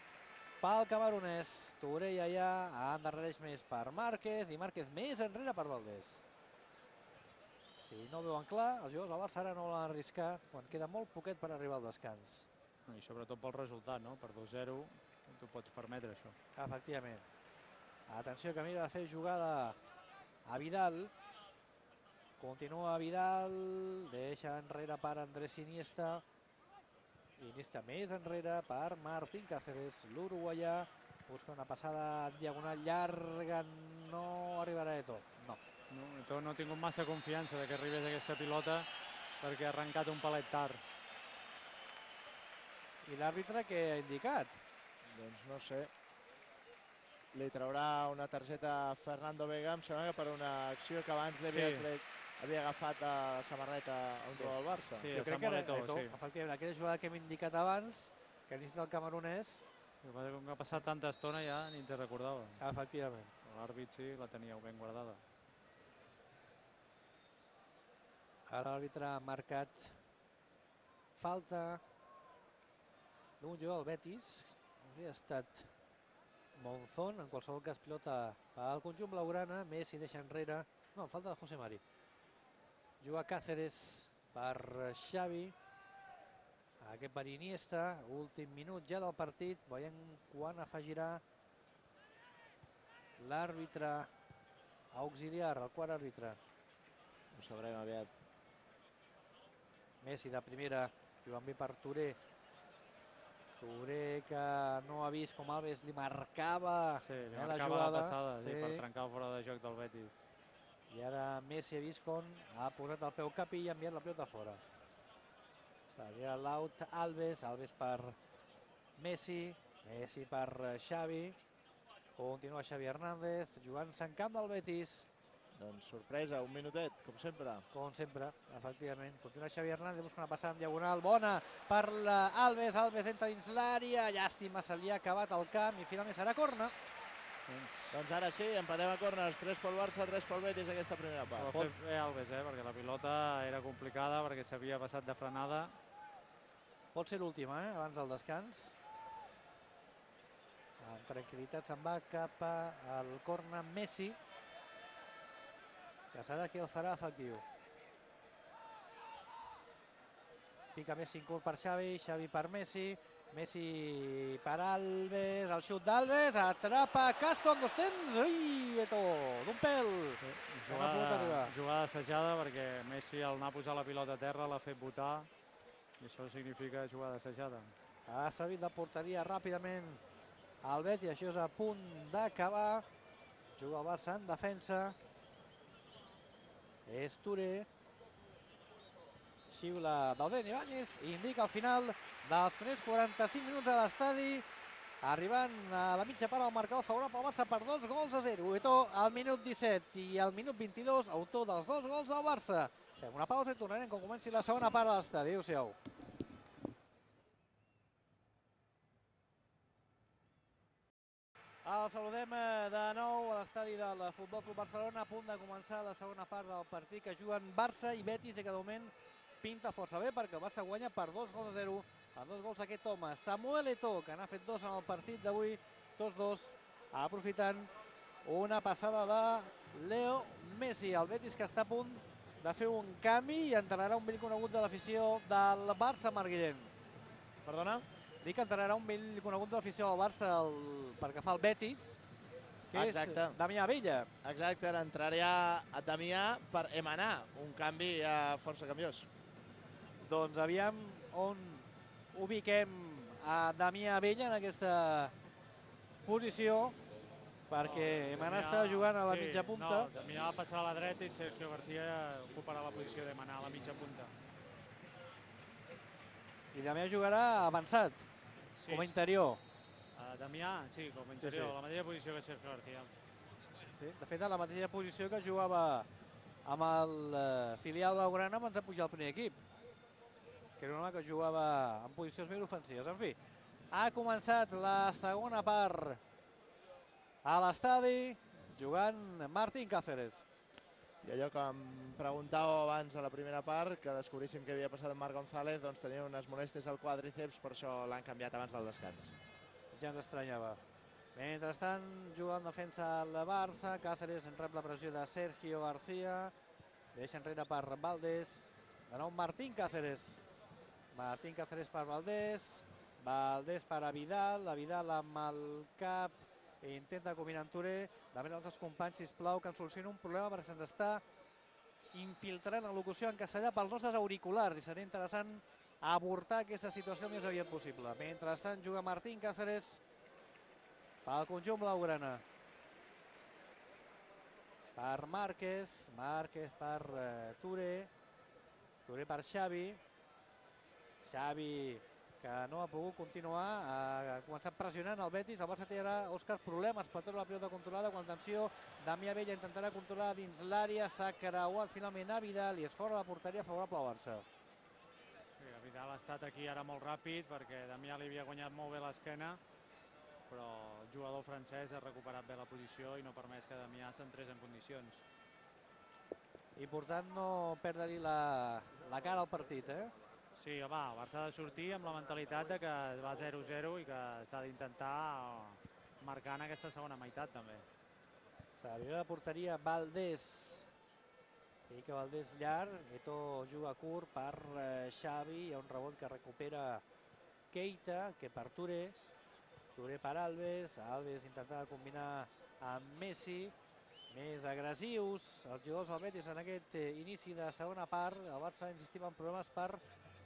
pel camerunès. Touré ja ja endarrereix més per Márquez i Márquez més enrere per Valdés. Si no ho veuen clar, els jugadors del Barça ara no volen arriscar quan queda molt poquet per arribar al descans. I sobretot pel resultat, no? Per dos zero tu pots permetre això. Efectivament. Atenció, que mira de fer jugada a Vidal. Continua Vidal, deixa enrere per Andrés Iniesta. Iniesta més enrere per Martín Cáceres, l'uruguaià. Busca una passada diagonal llarga, no arribarà Eto'o. No. No, Eto'o no ha tingut massa confiança de que arribés aquesta pilota perquè ha arrencat un palet tard. I l'àrbitre què ha indicat? Doncs no sé. Li traurà una targeta a Fernando Vega, em sembla que per una acció que abans li havia, Sí. tret, havia agafat a la samarreta a un jugador del Barça. Sí, Jo a crec que Samuel era Eto'o, Eto'o, sí. efectivament, aquella jugada que hem indicat abans, que necessita el camerunès, El que passa és que com que ha passat tanta estona ja ni te'n recordava. efectivament. L'àrbit sí, la teníeu ben guardada. Ara l'àrbitre ha marcat falta d'un jugador del Betis. Hauria estat Monzón, en qualsevol cas pilota pel conjunt blaugrana. Messi deixa enrere. No, falta de José Mari. Juga Cáceres per Xavi. Aquest per Iniesta. Últim minut ja del partit. Veiem quan afegirà l'àrbitre auxiliar, el quart àrbitre. Ho sabrem aviat. Messi de primera, jugant bé per Touré. Touré que no ha vist com Alves li marcava Sí, li eh, la marcava jugada. la passada sí, Sí. per trencar el fora de joc del Betis. I ara Messi ha vist com ha posat el peu cap i ha enviat la pilota fora. Seria l'out Alves, Alves per Messi, Messi per Xavi. Continua Xavi Hernández, jugant-se en camp del Betis. Doncs sorpresa, un minutet, com sempre. Com sempre, efectivament. Continua Xavi Hernández, busca una passada en diagonal bona per Alves. Alves entra dins l'àrea, llàstima, se li ha acabat el camp i finalment serà corna. Doncs ara sí, empatem a corners, tres pel Barça, tres pel Betis aquesta primera Ho part. ha fet bé Alves, eh, perquè la pilota era complicada, perquè s'havia passat de frenada. Pot ser l'última, eh, abans del descans. Amb tranquil·litat se'n va cap al corna Messi, que serà qui el farà efectiu. Pica Messi en curt per Xavi, Xavi per Messi, Messi per Alves, el xut d'Alves, atrapa Castro en dos temps, ui, Eto'o, d'un pèl. No ha pogut arribar. Jugada, jugada assajada, perquè Messi al anar a posar la pilota a terra l'ha fet botar, i això significa jugada assajada. Ha servit de porteria ràpidament el Betis, això és a punt d'acabar. Juga el Barça en defensa. És Touré. Xiula del Ben Ibáñez i indica el final dels primers quaranta-cinc minuts a l'estadi, arribant a la mitja part al marcador favorable al Barça per dos gols a zero. Eto'o al minut disset i al minut vint-i-dos, autor dels dos gols del Barça. Fem una pausa i tornarem quan comenci la segona part a l'estadi. Adéu-siau. El saludem de nou a l'estadi del Futbol Club Barcelona, a punt de començar la segona part del partit que juguen Barça i Betis, i que de moment pinta força bé perquè el Barça guanya per dos gols a zero, amb dos gols d'aquest home, Samuel Eto'o, que n'ha fet dos en el partit d'avui, tots dos, aprofitant una passada de Leo Messi. El Betis que està a punt de fer un canvi i entrarà un vell conegut de l'afició del Barça, Marc Guillem. Perdona? Dic que entrarà un vell conegut de l'afició del Barça el, perquè fa el Betis, que és Damià Vella. Exacte, entraria a Damià per Emanar, un canvi ja força canviós. Doncs aviam on ubiquem a Damià Vella en aquesta posició, perquè Emanar està jugant a la mitja punta. No, Damià va passar a la dreta i Sergio García ocuparà la posició d'Emanar a la mitja punta. I Damià jugarà avançat, com a interior. Damià, sí, com a interior, a la mateixa posició que Sergio García. Sí, de fet, a la mateixa posició que jugava amb el filial blaugrana abans de pujar al primer equip, que era un home que jugava en posicions més ofensives. En fi, ha començat la segona part a l'estadi, jugant Martín Cáceres. I allò que em preguntàveu abans a la primera part, que descobríssim què havia passat amb Marc González, doncs tenia unes molèsties al quàdriceps, per això l'han canviat abans del descans. Ja ens estranyava. Mentrestant, jugant en defensa el Barça, Cáceres en rep la pressió de Sergio García, deixa enrere per Valdés, de nou Martín Cáceres. Martín Cáceres per Valdés, Valdés per a Vidal, a Vidal amb el cap, intenta combinar amb Touré, demana als seus companys, sisplau, que ens solucioni un problema perquè se'ns està infiltrant la locució en castellà pels nostres auriculars i serà interessant avortar aquesta situació el més aviat possible. Mentrestant juga Martín Cáceres pel conjunt blaugrana. Per Márquez, Márquez per uh, Touré, Touré per Xavi, Xavi que no ha pogut continuar, ha començat pressionant el Betis, el Barça té ara, Òscar, problemes per treure la pilota controlada, quan atenció, Damià Vella intentarà controlar dins l'àrea, s'ha creuat finalment a Vidal i és fora de la porteria favorable al Barça. Sí, Vidal ha estat aquí ara molt ràpid perquè Damià li havia guanyat molt bé l'esquena, però el jugador francès ha recuperat bé la posició i no ha permès que Damià s'entrés en condicions. Important no perdre-li la, la cara al partit, eh? Sí, home, el Barça ha de sortir amb la mentalitat de que va zero zero i que s'ha d'intentar marcar en aquesta segona meitat també. S'arriba a la porteria Valdés. Pica Valdés llarg, Eto'o juga curt per Xavi, hi ha un rebot que recupera Keita, que per Touré. Touré per Alves, Alves intentava combinar amb Messi. Més agressius els jugadors del Betis en aquest inici de segona part. El Barça insistim en problemes per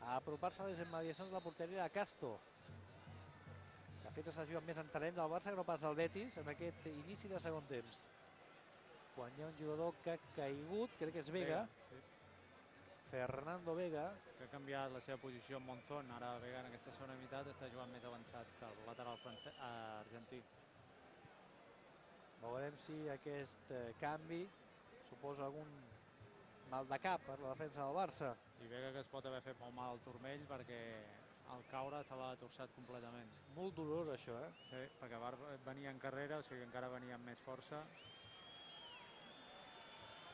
apropar-se a les immediacions de la porteria de Castro. De fet, s'ha jugat més en talent del Barça que no pas el Betis en aquest inici de segon temps. Quan hi ha un jugador que ha caigut, crec que és Vega, Fernando Vega. Que ha canviat la seva posició amb Monzón. Ara Vega en aquesta segona meitat està jugant més avançat que el lateral argentí. Veurem si aquest canvi suposa algun mal de cap per la defensa del Barça. I Vega que es pot haver fet molt mal al turmell perquè al caure se l'ha torçat completament. Molt dolorós això, eh? Sí, perquè venia en carrera, o sigui encara venia amb més força.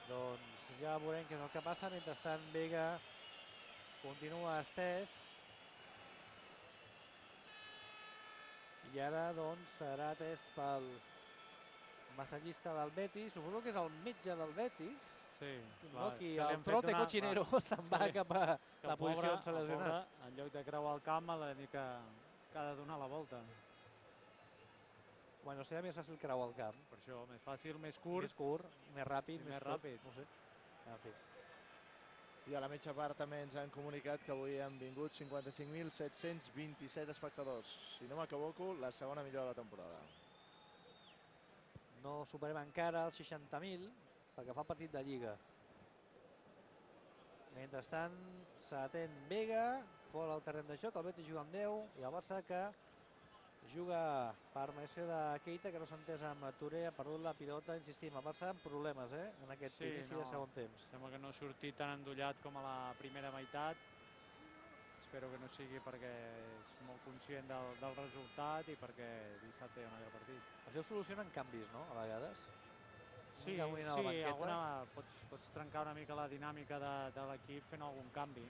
Doncs ja veurem què és el que passa. Mentrestant Vega continua estès. I ara doncs serà atès pel massatgista del Betis, suposo que és el metge del Betis. Sí, clar. El trote cochinero se'n va cap a la posició on s'ha lesionat. En lloc de creuar el camp ha de dir que ha de donar la volta. Bueno, serà més fàcil creuar el camp. Per això, més fàcil, més curt. Més curt, més ràpid. Més ràpid. No sé. En fi. I a la mitja part també ens han comunicat que avui han vingut cinquanta-cinc mil set-cents vint-i-set espectadors. Si no m'equivoco, la segona millor de la temporada. No superem encara els seixanta mil perquè fa el partit de Lliga. Mentrestant s'atén Vega, fora del terreny de joc, el Betis juga amb deu i el Barça que juga per mediació de Keita, que no s'ha entès amb Touré, ha perdut la pilota, insistim, el Barça amb problemes eh, en aquest sí, inici no, de segon temps. Sembla que no ha sortit tan endollat com a la primera meitat. Espero que no sigui perquè és molt conscient del, del resultat i perquè dissabte hi ha un altre partit. Això solucionen canvis, no?, a vegades? Sí, sí, alguna, pots, pots trencar una mica la dinàmica de, de l'equip fent algun canvi.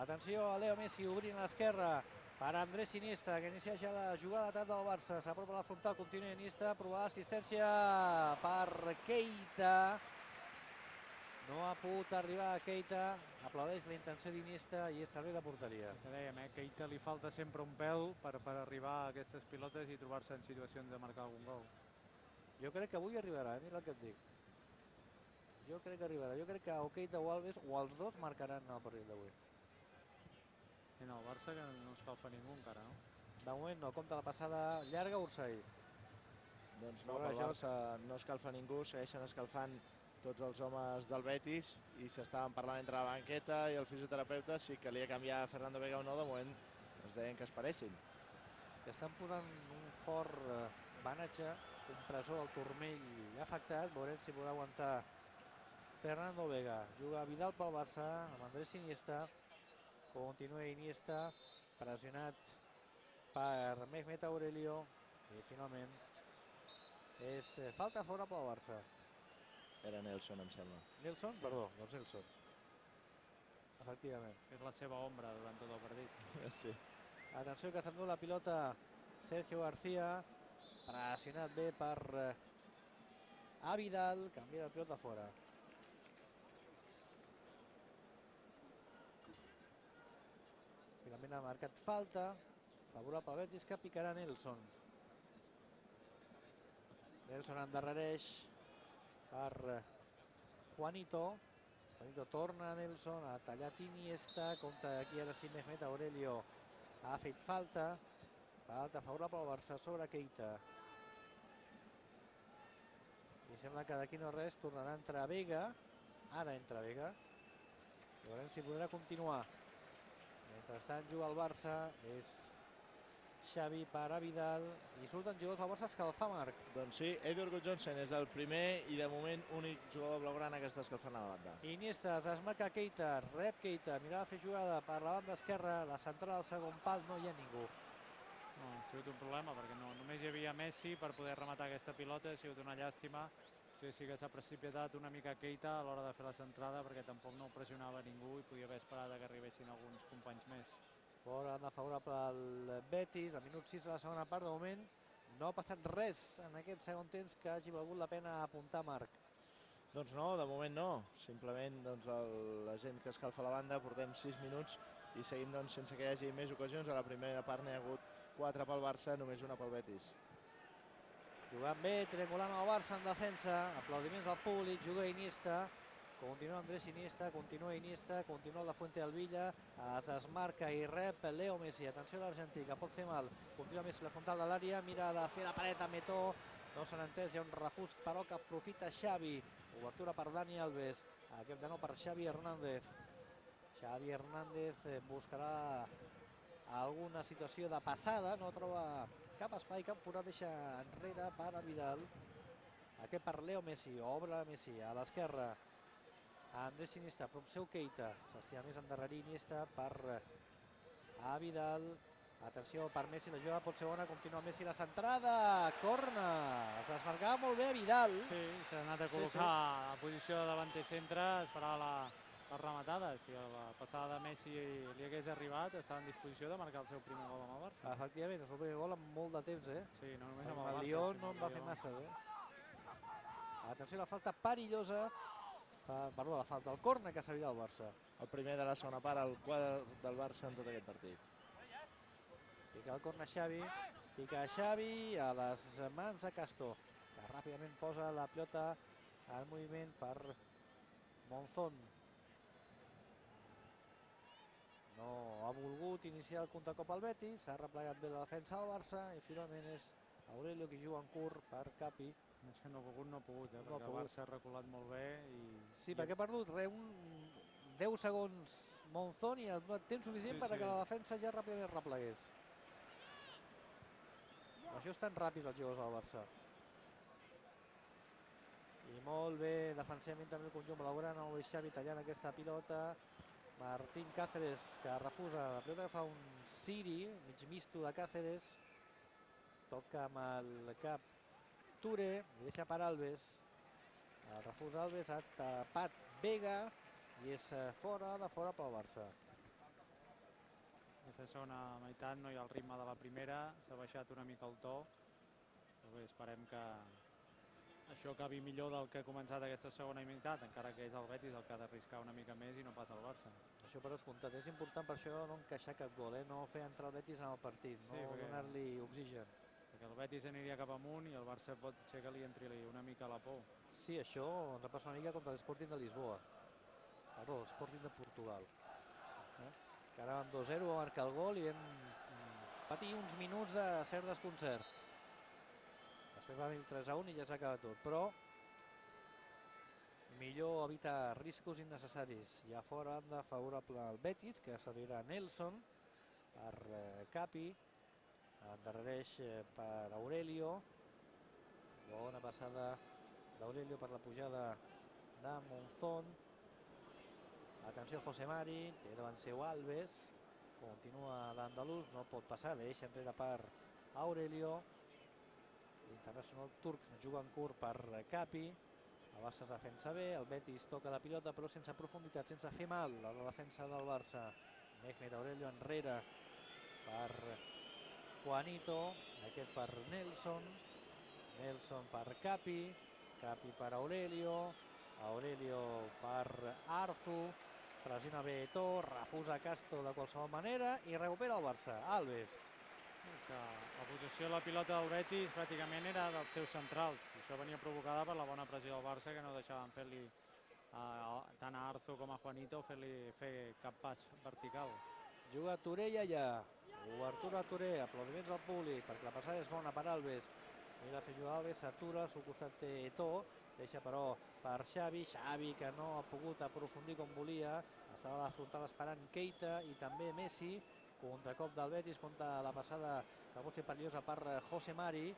Atenció a Leo Messi obrint a l'esquerra per Andrés Iniesta, que inicia ja la jugada d'atac del Barça. S'apropa a la frontal, continua Iniesta, provarà l'assistència per Keita. No ha pogut arribar a Keita, aplaudeix la intenció d'Iniesta i és servei de porteria. Que dèiem, eh? Keita li falta sempre un pèl per, per arribar a aquestes pilotes i trobar-se en situacions de marcar algun gol. Jo crec que avui arribarà, eh? Mira el que et dic. Jo crec que arribarà. Jo crec que o Keita o Alves, o els dos, marcaran el partit d'avui. I no, el Barça que no escalfa ningú encara, no? De moment no, compta la passada llarga Ursay. Doncs no, pel Barça no escalfa ningú, segueixen escalfant tots els homes del Betis i s'estaven parlant entre la banqueta i el fisioterapeuta si calia canviar a Fernando Vega o no. De moment es deien que es paressin. Que estan posant un fort banatge, compressor al turmell afectat. Veurem si podrà aguantar Fernando Vega. Juga Vidal pel Barça amb Andrés Iniesta. Continua Iniesta, pressionat per Mehmet Aurelio. I finalment és falta fora pel Barça. Era Nelson, em sembla. Nelson? Sí. Perdó, doncs Nelson. Efectivament. És la seva ombra durant tot el partit. Sí. Atenció que s'endú la pilota Sergio García. Pressionat bé per a Vidal. Canvia la pilota fora. Finalment ha marcat falta. Favorable al Betis, que picarà Nelson. Nelson endarrereix per Juanito. Juanito torna a Nelson, ha tallat Iniesta, compta aquí ara sí Mehmet Aurelio. Ha fet falta. Falta favorable al Barça sobre Keita. I sembla que d'aquí no res, tornarà a entrar Vega. Ara entra Vega. I veurem si podrà continuar. Mentrestant juga el Barça, és Xavi per a Vidal i surten jugadors del Barça a escalfar, Marc. Doncs sí, Edward Gudjohnsen és el primer i de moment únic jugador blaugrana que està escalfant a la banda. Iniesta, es marca Keita, rep Keita, mirava a fer jugada per la banda esquerra, la central al segon pal, no hi ha ningú. No, ha sigut un problema perquè no, només hi havia Messi per poder rematar aquesta pilota, ha sigut una llàstima. Sí que s'ha precipitat una mica Keita a l'hora de fer la centrada perquè tampoc no pressionava ningú i podia haver esperat que arribessin alguns companys més. Fora de favorable al Betis, a minut sis de la segona part. De moment no ha passat res en aquest segon temps que hagi valgut la pena apuntar, Marc. Doncs no, de moment no. Simplement doncs, el, la gent que escalfa la banda, portem sis minuts i seguim doncs, sense que hi hagi més ocasions. A la primera part n'hi ha hagut quatre pel Barça, només una pel Betis. Jugant bé, triangulant el Barça en defensa, aplaudiments al públic, juga Iniesta. Continua Andrés Iniesta, continua Iniesta, continua la Fuente del Villa, es desmarca i rep Leo Messi. Atenció a l'argentí, que pot fer mal. Continua Messi la frontal de l'àrea, mira de fer la paret a Metó. No s'han entès, hi ha un refús, però que aprofita Xavi. Obertura per Dani Alves, aquest de nou per Xavi Hernández. Xavi Hernández buscarà alguna situació de passada, no troba cap espai, cap forat, deixa enrere per a Vidal. Aquest per Leo Messi, obre Messi a l'esquerra. Andrés Iniesta, prop seu Keita, s'estima més endarrerir Iniesta per a Vidal. Atenció per Messi, la jugada pot ser bona, continua Messi la centrada, corna, es desmarcava molt bé Vidal. Sí, s'ha anat a col·locar sí, sí. a posició de davanter centre, esperava la, la rematada. Si la passada de Messi li hagués arribat, estava en disposició de marcar el seu primer gol amb el Barça. Efectivament, és el primer gol amb molt de temps, eh? Sí, no només amb el Barça. El Lyon no en va fer massa, eh? Atenció, la falta perillosa. Perdó, la falta, el córner que servirà al Barça. El primer de la segona part, el quart del Barça en tot aquest partit. Pica el córner Xavi, pica Xavi a les mans de Castó, que ràpidament posa la pilota en moviment per Monzón. No ha volgut iniciar el contracop al Betis, s'ha replegat bé la defensa del Barça i finalment és Aurelio qui juga en curt per Capi. És que no ha pogut, no ha pogut, eh? No perquè el Barça ha reculat molt bé. I... Sí, perquè ha perdut re, un deu segons Monzón i ha donat temps suficient sí, perquè sí. la defensa ja ràpidament replegués. Això estan ràpids els jugadors del Barça. I molt bé defensivament també el conjunt blaugrana, el Xavi tallant aquesta pilota. Martín Cáceres que refusa la pilota, que fa un Siri, mig misto de Cáceres. Toca amb el cap Ture, i deixa per Alves. El refús Alves ha tapat Vega i és fora de fora pel Barça. Aquesta segona meitat no hi ha el ritme de la primera, s'ha baixat una mica el to. Però bé, esperem que això acabi millor del que ha començat aquesta segona meitat, encara que és el Betis el que ha d'arriscar una mica més i no passa el Barça. Això per descomptat, és important per això no encaixar cap gol, eh? No fer entrar el Betis en el partit, no sí, donar-li oxigen. Perquè el Betis aniria cap amunt i el Barça pot ser que li entri una mica la por. Sí, això ens passa una mica contra l'Sporting de Lisboa. Perdó, l'Sporting de Portugal. Que ara amb dos zero va marcar el gol i vam patir uns minuts de cert desconcert. Després va venir el tres a un i ja s'ha acabat tot, però millor evitar riscos innecessaris. Ja fora banda favorable al Betis, que servirà Nelson per Capi, endarrereix per Aurelio, bona passada d'Aurelio per la pujada de Monzón. Atenció José Mari, té davant seu Alves, continua l'andalús, no pot passar, deixa enrere per Aurelio. L'internacional turc juga en curt per Capi, el Barça es defensa bé, el Betis toca la pilota però sense profunditat, sense fer mal a la defensa del Barça. Mehmet Aurelio enrere per Juanito, aquest per Nelson, Nelson per Capi, Capi per Aurelio, Aurelio per Arzu, pressiona bé Eto'o, refusa Castro de qualsevol manera i recupera el Barça. Alves. La posició de la pilota del Betis pràcticament era dels seus centrals. Això venia provocada per la bona pressió del Barça, que no deixaven fer-li tant a Arzu com a Juanito fer-li fer cap pas vertical. Juga Touré i allà. Obertura a Touré, aplaudiments al públic, perquè la passada és bona per Alves. Mira fer jugar Alves, s'atura, al seu costat té Eto'o, deixa però per Xavi, Xavi que no ha pogut aprofundir com volia, estava a la frontal esperant Keita i també Messi. Contracop del Betis contra la passada que pot ser perillosa per José Mari.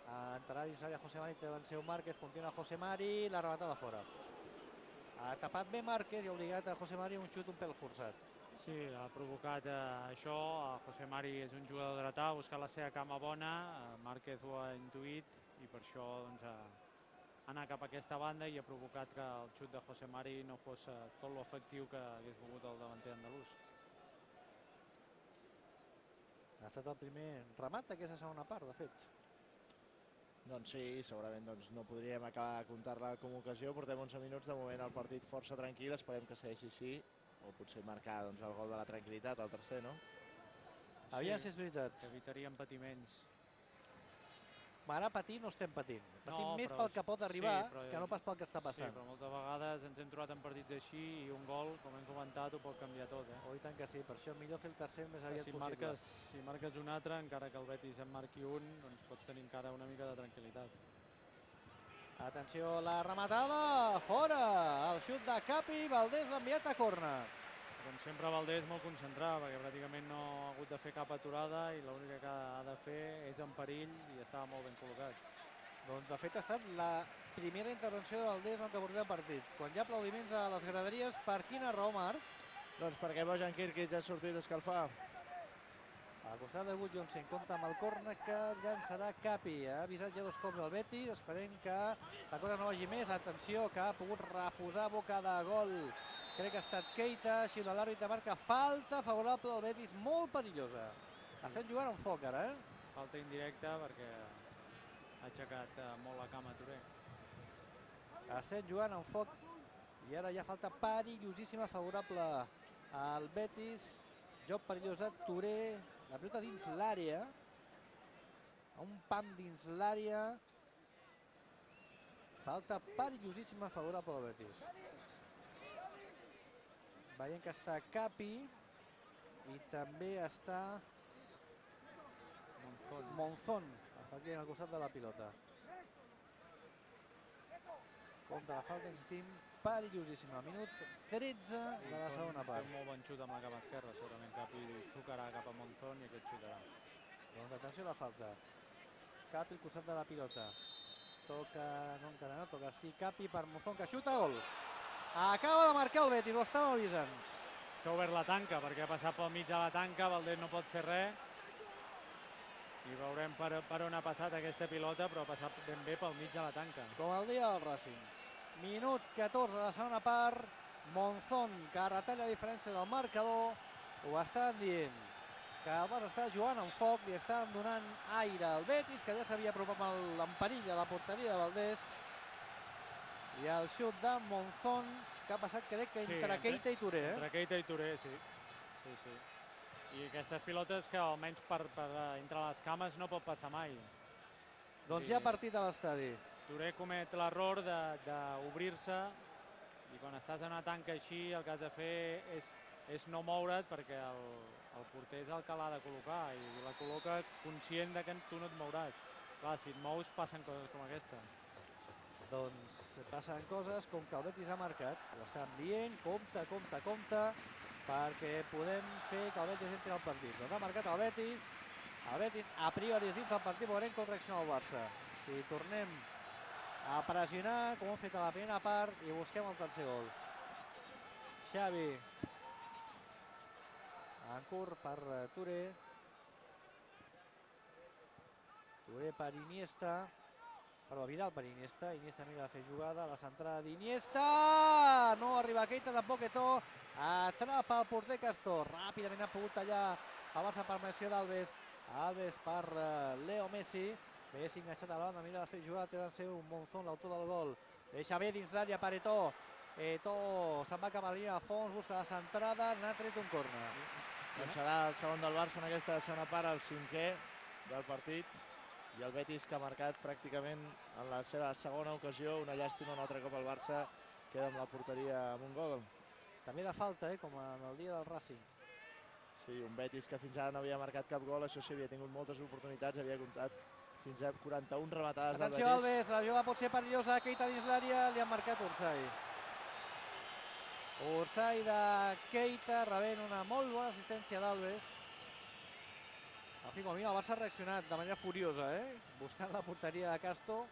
Entrarà dins l'àrea José Mari, té davant seu Márquez, continua José Mari, la rematada fora. Ha tapat bé Márquez i ha obligat a José Mari un xut un pèl forçat. Sí, ha provocat això. José Mari és un jugador dretà, ha buscat la seva cama bona, Márquez ho ha intuït i per això ha anat cap a aquesta banda i ha provocat que el xut de José Mari no fos tot l'efectiu que hagués volgut el davanter andalús. Ha estat el primer remat d'aquesta segona part, de fet. Doncs sí, segurament no podríem acabar de comptar-la com a ocasió. Portem onze minuts, de moment el partit força tranquil, esperem que segueixi així, o potser marcar el gol de la tranquil·litat, el tercer, no? Aviam si és veritat. Evitaríem patiments. Ara patir no estem patint. Patim més pel que pot arribar que no pas pel que està passant. Sí, però moltes vegades ens hem trobat en partits així i un gol, com hem comentat, ho pot canviar tot. Oh, i tant que sí, per això millor fer el tercer més aviat possible. Si marques un altre, encara que el Betis en marqui un, doncs pots tenir encara una mica de tranquil·litat. Atenció, la rematada, fora! El xut de Capi, Valdés enviat a córner. Com sempre, Valdés molt concentrat, perquè pràcticament no ha hagut de fer cap aturada i l'única que ha de fer és en perill i estava molt ben col·locat. Doncs, de fet, ha estat la primera intervenció de Valdés en el que porta el partit. Quan hi ha aplaudiments a les graderies, per quina raó, Marc? Doncs perquè Bojan Kirkic ja ha sortit a escalfar. Al costat de Gudjohnsen compta amb el córner que llançarà Capi. Ha avisat ja dos cops el Betis, esperem que la cosa no vagi més. Atenció, que ha pogut refusar boca de gol. Crec que ha estat Keita, així l'àrbitre marca falta favorable al Betis, molt perillosa. Estem jugant amb foc ara, eh? Falta indirecta perquè ha aixecat molt la cama Touré. Estem jugant amb foc i ara hi ha falta perillosíssima favorable al Betis. Joc perillós a Touré, la pilota dins l'àrea, un pam dins l'àrea. Falta perillosíssima favorable al Betis. Veiem que està Capi i també està Monzón, aquí al costat de la pilota. Contra la falta, insistim, perillosíssima. Minut tretze de la segona part. Té un molt bon xut amb la cama esquerra, segurament Capi tocarà cap a Monzón i aquest xutarà. Doncs atenció a la falta. Capi al costat de la pilota. Toca, no encara no, toca sí Capi per Monzón, que xuta gol. Acaba de marcar el Betis, ho estàvem avisant. S'ha obert la tanca perquè ha passat pel mig de la tanca, Valdés no pot fer res. I veurem per, per on ha passat aquesta pilota, però ha passat ben bé pel mig de la tanca. Com el dia del Racing. Minut catorze de la segona part. Monzón, que retalla la diferència del marcador. Ho estan dient. Que el Barça està jugant amb foc, li estan donant aire al Betis, que ja s'havia apropat amb l'emperill a la porteria de Valdés. I el xut de Monzón, que ha passat, crec que entre Keita i Touré. Entre Keita i Touré, sí. Sí, sí. I aquestes pilotes que almenys per, per entre les cames no pot passar mai. Doncs ja ha partit a l'estadi. Touré comet l'error d'obrir-se i quan estàs en una tanca així el que has de fer és, és no moure't perquè el, el porter és el que l'ha de col·locar i la col·loca conscient de que tu no et mouràs. Clar, si et mous passen coses com aquesta. Doncs passen coses com que el Betis ha marcat. Ho estan dient, compte, compte, compte, perquè podem fer que el Betis entri al partit. Doncs ha marcat el Betis. El Betis a priori és dins el partit, veurem com reacciona el Barça. Si tornem a pressionar, com hem fet a la primera part, i busquem el tercer gol. Xavi. En curt per Touré. Touré per Iniesta. Perdó, Vidal per Iniesta. Iniesta mira de fer jugada. La centrada d'Iniesta. No arriba Keita, tampoc Eto'o. Atrapa el porter Castor. Ràpidament ha pogut tallar el Barça per mediació d'Alves. Alves per Leo Messi. Messi enganxat a la banda, mira de fer jugada. Té de ser un Monzón, l'autor del gol. Deixa bé dins l'àrea per Eto'o. Eto'o se'n va cap a la línia de fons, busca la centrada. N'ha tret un córner. Doncs serà el segon del Barça en aquesta segona part, el cinquè del partit. I el Betis, que ha marcat pràcticament en la seva segona ocasió. Una llàstima, un altre cop el Barça queda amb la porteria amb un gol. També de falta, eh, com en el dia del Racing. Sí, un Betis que fins ara no havia marcat cap gol, això sí, havia tingut moltes oportunitats, havia comptat fins a quaranta-una rematades del Betis. Atenció, Alves, la jugada pot ser perillosa, Keita dins l'àrea, li han marcat Orsay. Orsay de Keita, rebent una molt bona assistència d'Alves. En fi, com a mínim el Barça ha reaccionat de manera furiosa, eh? Buscant la porteria de Castro.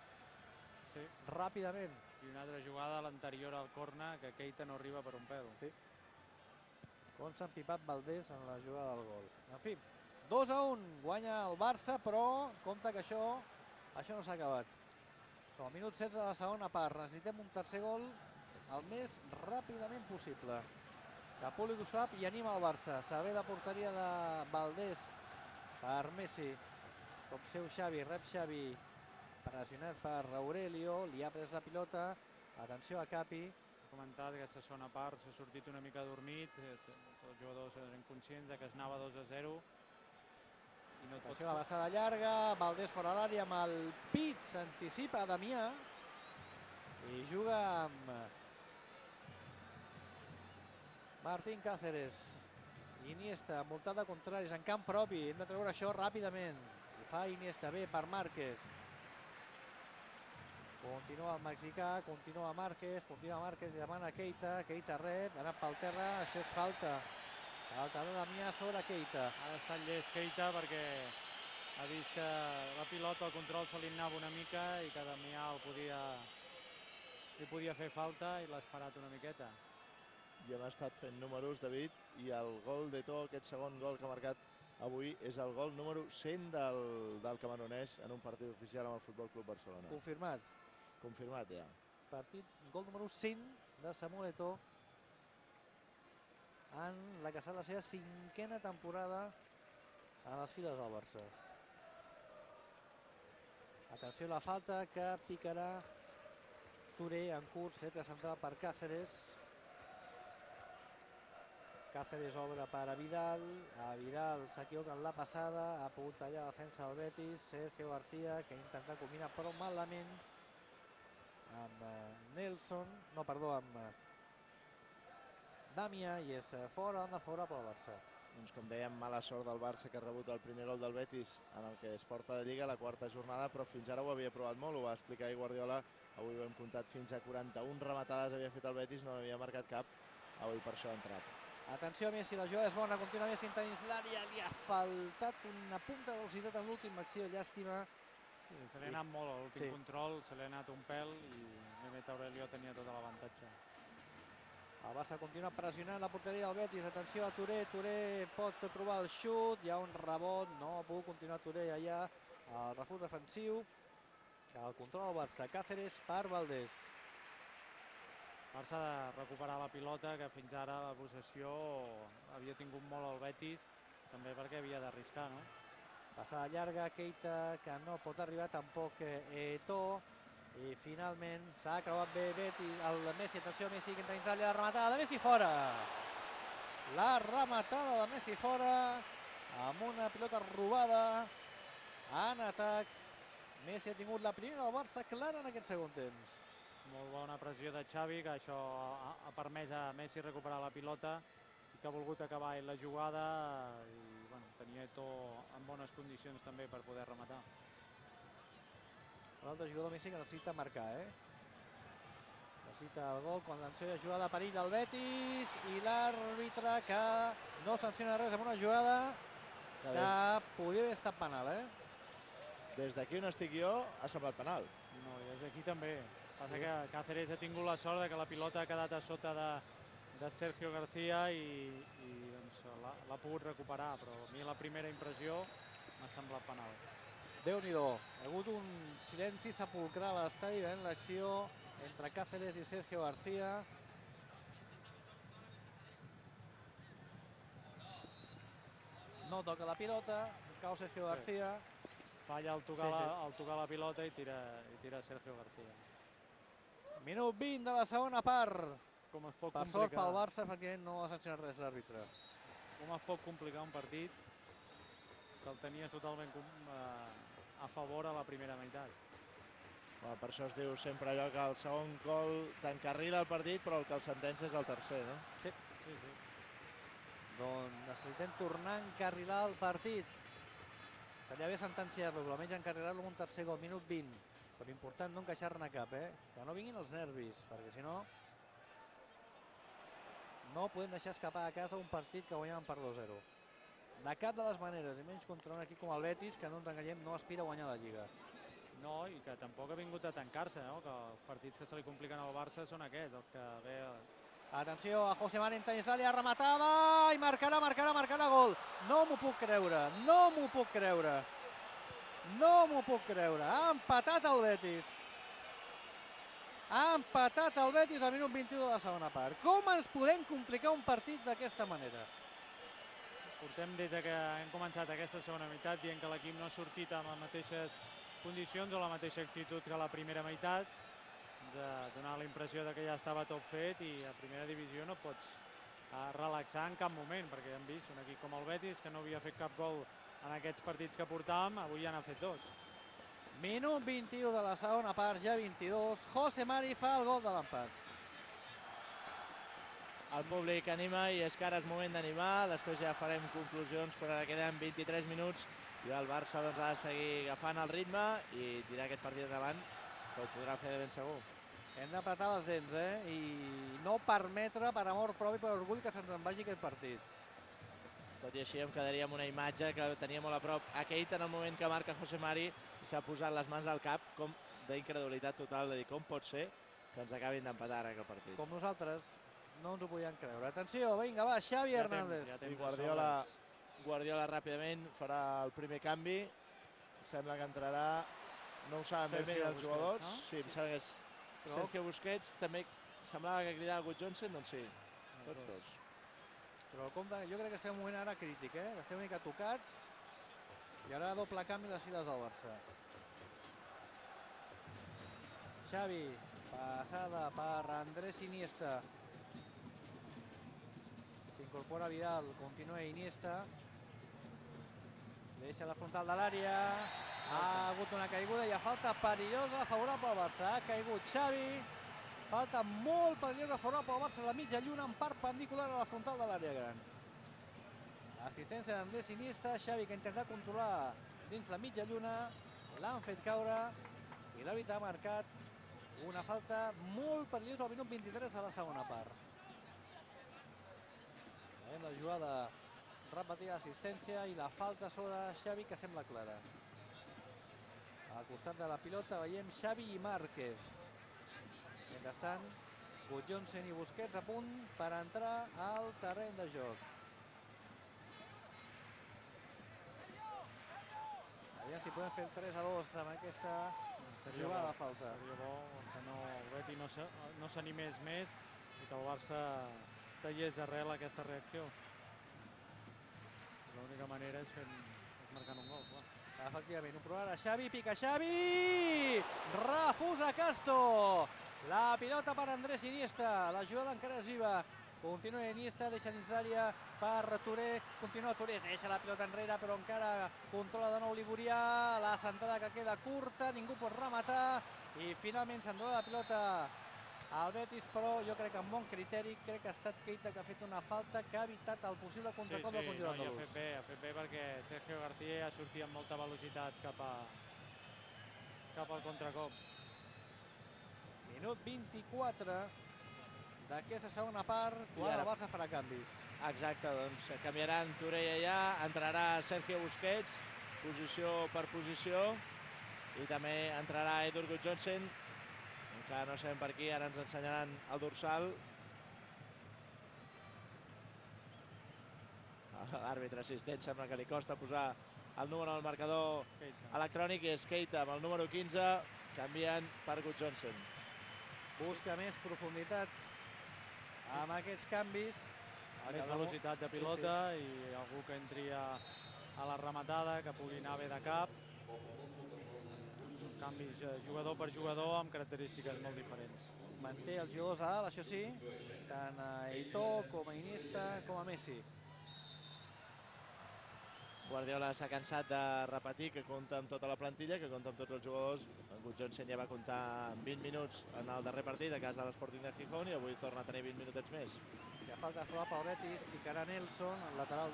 Sí. Ràpidament. I una altra jugada a l'anterior al corner, que Keita no arriba per un pèl. Sí. Com s'ha empipat Valdés en la jugada del gol. En fi, dos a un, guanya el Barça, però compte que això, això no s'ha acabat. Som al minut setze de la segona part. Necessitem un tercer gol el més ràpidament possible. Que Públic ho sap i anima el Barça. Servei de porteria de Valdés per Messi. Com seu Xavi, rep Xavi, pressionat per Aurelio, li ha pres la pilota. Atenció a Capi. Comentat que aquesta segona part s'ha sortit una mica dormit, tots els jugadors eren conscients que es anava dos a zero. No Atenció a la passada llarga, Valdés fora l'àrea amb el pit, s'anticipa Damià i juga amb Martín Cáceres. Iniesta, envoltat de contraris, en camp propi, hem de treure això ràpidament. Ho fa Iniesta, bé per Márquez. Continua el mexicà, continua Márquez, continua Márquez i demana Keita, Keita rep, ha anat pel terra, això és falta. Falta de Damià sobre Keita. Ha estat llest Keita perquè ha vist que la pilota, el control se li anava una mica i que Damià el podia, li podia fer falta i l'ha esperat una miqueta. I hem estat fent números, David, i el gol d'Eto'o, aquest segon gol que ha marcat avui, és el gol número cent del, del camerunès en un partit oficial amb el Futbol Club Barcelona. Confirmat. Confirmat, ja. Partit, gol número cent de Samuel Eto'o en la que serà la seva cinquena temporada a les files del Barça. Atenció a la falta que picarà Touré en curs, centre central per Cáceres. Cáceres obre per a Vidal, a Vidal s'equivoca en la passada, ha pogut tallar la defensa del Betis, Sergio García, que ha intentat combinar però malament amb Nelson, no, perdó, amb Damià, i és fora, banda favorable al Barça. Doncs com dèiem, mala sort del Barça, que ha rebut el primer gol del Betis en el que es porta de Lliga, la quarta jornada, però fins ara ho havia provat molt, ho va explicar ahir Guardiola, avui ho hem comptat fins a quaranta-una rematades havia fet el Betis, no havia marcat cap, avui per això ha entrat. Atenció a Messi, la jugada és bona, continua Messi dins l'àrea, li ha faltat una punta de velocitat en l'última acció, llàstima. Sí, se li ha anat molt a l'últim control, se li ha anat un pèl i Mehmet Aurelio tenia tot l'avantatge. El Barça continua pressionant la porteria del Betis, atenció a Touré, Touré pot provar el xut, hi ha un rebot, no ha pogut continuar Touré allà, el refús defensiu, el control del Barça, Cáceres per Valdés. Barça ha de recuperar la pilota, que fins ara la possessió havia tingut molt el Betis, també perquè havia d'arriscar, no? Passada llarga, Keita, que no pot arribar tampoc Eto'o, i finalment s'ha creuat bé Betis, el Messi, atenció a Messi, que entra dins l'àrea, la rematada de Messi fora. La rematada de Messi fora, amb una pilota robada en atac. Messi ha tingut la primera del Barça clara en aquest segon temps. Molt bona pressió de Xavi, que això ha permès a Messi recuperar la pilota i que ha volgut acabar la jugada i bueno, tenia Eto'o en bones condicions també per poder rematar. L'altre jugador Messi que necessita marcar, eh? Necessita el gol, contenció de jugada, perill del Betis i l'àrbitre que no sanciona res amb una jugada que podria haver estat penal, eh? Des d'aquí on estic jo ha semblat penal. No, i des d'aquí també. Passa que Cáceres ha tingut la sort que la pilota ha quedat a sota de, de Sergio García i, i doncs, l'ha pogut recuperar, però a mi la primera impressió m'ha semblat penal. Déu-n'hi-do, ha hagut un silenci sepulcral a l'estadi veient l'acció entre Cáceres i Sergio García. No toca la pilota, cau Sergio García. Falla al tocar, sí, sí. La, al tocar la pilota i tira, i tira Sergio García. Minut vint de la segona part. Com es pot per complicar... sort pel Barça, perquè no ha sancionat res l'àrbitre. Com es pot complicar un partit que el tenies totalment a favor a la primera meitat? Bueno, per això es diu sempre allò que el segon gol t'encarrila el partit, però el que el sentència és el tercer, no? Sí. Sí, sí. Doncs necessitem tornar a encarrilar el partit. Estaria bé sentenciar-lo, però almenys encarrilar-lo amb un tercer gol, minut vint. Però important no encaixar-ne cap, eh? Que no vinguin els nervis, perquè si no... No podem deixar escapar a casa un partit que guanyàvem per dos a zero. De cap de les maneres, i menys contra un equip com el Betis, que no ens enganyem, no aspira a guanyar la Lliga. No, i que tampoc ha vingut a tancar-se, no? Que els partits que se li compliquen al Barça són aquests, els que ve... Atenció a José Mari en tenis l'àrea, rematada, i marcarà, marcarà, marcarà gol. No m'ho puc creure, no m'ho puc creure. No m'ho puc creure. Ha empatat el Betis. Ha empatat el Betis al minut vint-i-u de la segona part. Com ens podem complicar un partit d'aquesta manera? Portem des que hem començat aquesta segona meitat dient que l'equip no ha sortit amb les mateixes condicions o la mateixa actitud que la primera meitat, de donar la impressió que ja estava tot fet i a primera divisió no pots relaxar en cap moment, perquè hem vist un equip com el Betis que no havia fet cap gol en aquests partits que portàvem, avui ja n'ha fet dos. Minut vint-i-u de la segona part, ja vint-i-dos, José Mari fa el gol de l'empat. El públic anima i és que ara és moment d'animar, després ja farem conclusions, però ara queden vint-i-tres minuts i el Barça doncs, ha de seguir agafant el ritme i tirar aquest partit endavant, que ho podrà fer de ben segur. Hem d'apretar les dents, eh? I no permetre, per amor propi, per orgull, que se'ns en vagi aquest partit. Tot i així em quedaria amb una imatge que tenia molt a prop a Keita en el moment que marca José Mari i s'ha posat les mans al cap com d'incredulitat total, de dir com pot ser que ens acabin d'empatar ara aquest partit. Com nosaltres no ens ho podíem creure. Atenció, vinga, va, Xavi Hernández. Ja I Guardiola, Guardiola ràpidament farà el primer canvi. Sembla que entrarà, no ho saben ben bé els jugadors. No? Sí, em sembla que és Però... Sergio Busquets, també semblava que cridava Good Johnson, doncs sí, tots dos. Però compte, jo crec que estem en un moment ara crític, eh? Estem una mica tocats i ara doble canvi les files del Barça. Xavi, passada per Andrés Iniesta. S'incorpora Vidal, continua Iniesta. Deixa la frontal de l'àrea. Ha hagut una caiguda i ha falta perillosa favorable al Barça. Ha caigut Xavi. Falta molt perillosa favorable al Barça a la mitja lluna en perpendicular a la frontal de l'àrea gran. Assistència d'Andrés Iniesta. Xavi que ha intentat controlar dins la mitja lluna. L'han fet caure i l'àrbitre ha marcat una falta molt perillosa al minut vint-i-tres a la segona part. Veiem la jugada repetida d'assistència i la falta sobre Xavi que sembla clara. Al costat de la pilota veiem Xavi i Márquez. Mentrestant, Good Johnson i Busquets a punt per entrar al terreny de joc. Aviam si podem fer el tres a dos amb aquesta jugada de falta. Seria bo que no, el Betis no, no s'animés més i que el Barça tallés d'arrel aquesta reacció. L'única manera és, fent, és marcant un gol, clar. Efectivament, ho provarà Xavi, pica Xavi! Refusa Castro! La pilota per Andrés Iniesta, la jugada encara és viva Continua Iniesta, deixa dins l'àrea per Touré, continua Touré, deixa la pilota enrere, però encara controla de nou Liburià, la centrada que queda curta, ningú pot rematar, i finalment s'endona la pilota al Betis, però jo crec que amb bon criteri, crec que ha estat Keita que ha fet una falta que ha evitat el possible contracop del conjunt andalús. Sí, sí, ha fet bé, ha fet bé perquè Sergio García ha sortit amb molta velocitat cap al contracop. Minut vint-i-quatre d'aquesta segona part, quan el Barça farà canvis. Exacte, doncs canviaran Touré i allà, entrarà Sergio Busquets, posició per posició, i també entrarà Edur Gudjohnsen, encara no sabem per qui, ara ens ensenyaran el dorsal. L'àrbitre assistent sembla que li costa posar el número al marcador electrònic, i és Keita amb el número quinze, canvien per Gudjohnsen. Busca més profunditat amb aquests canvis. Més velocitat de pilota i algú que entri a la rematada, que pugui anar bé de cap. Són canvis jugador per jugador amb característiques molt diferents. Manté els jugadors a dalt, això sí, tant a Eto'o com a Iniesta com a Messi. Guardiola s'ha cansat de repetir que compta amb tota la plantilla, que compta amb tots els jugadors. En Gudjohnsen ja va comptar amb vint minuts en el darrer partit a casa de l'Sporting de Gijón i avui torna a tenir vint minutets més. Ja falta Flop al Betis, picarà Nelson, el lateral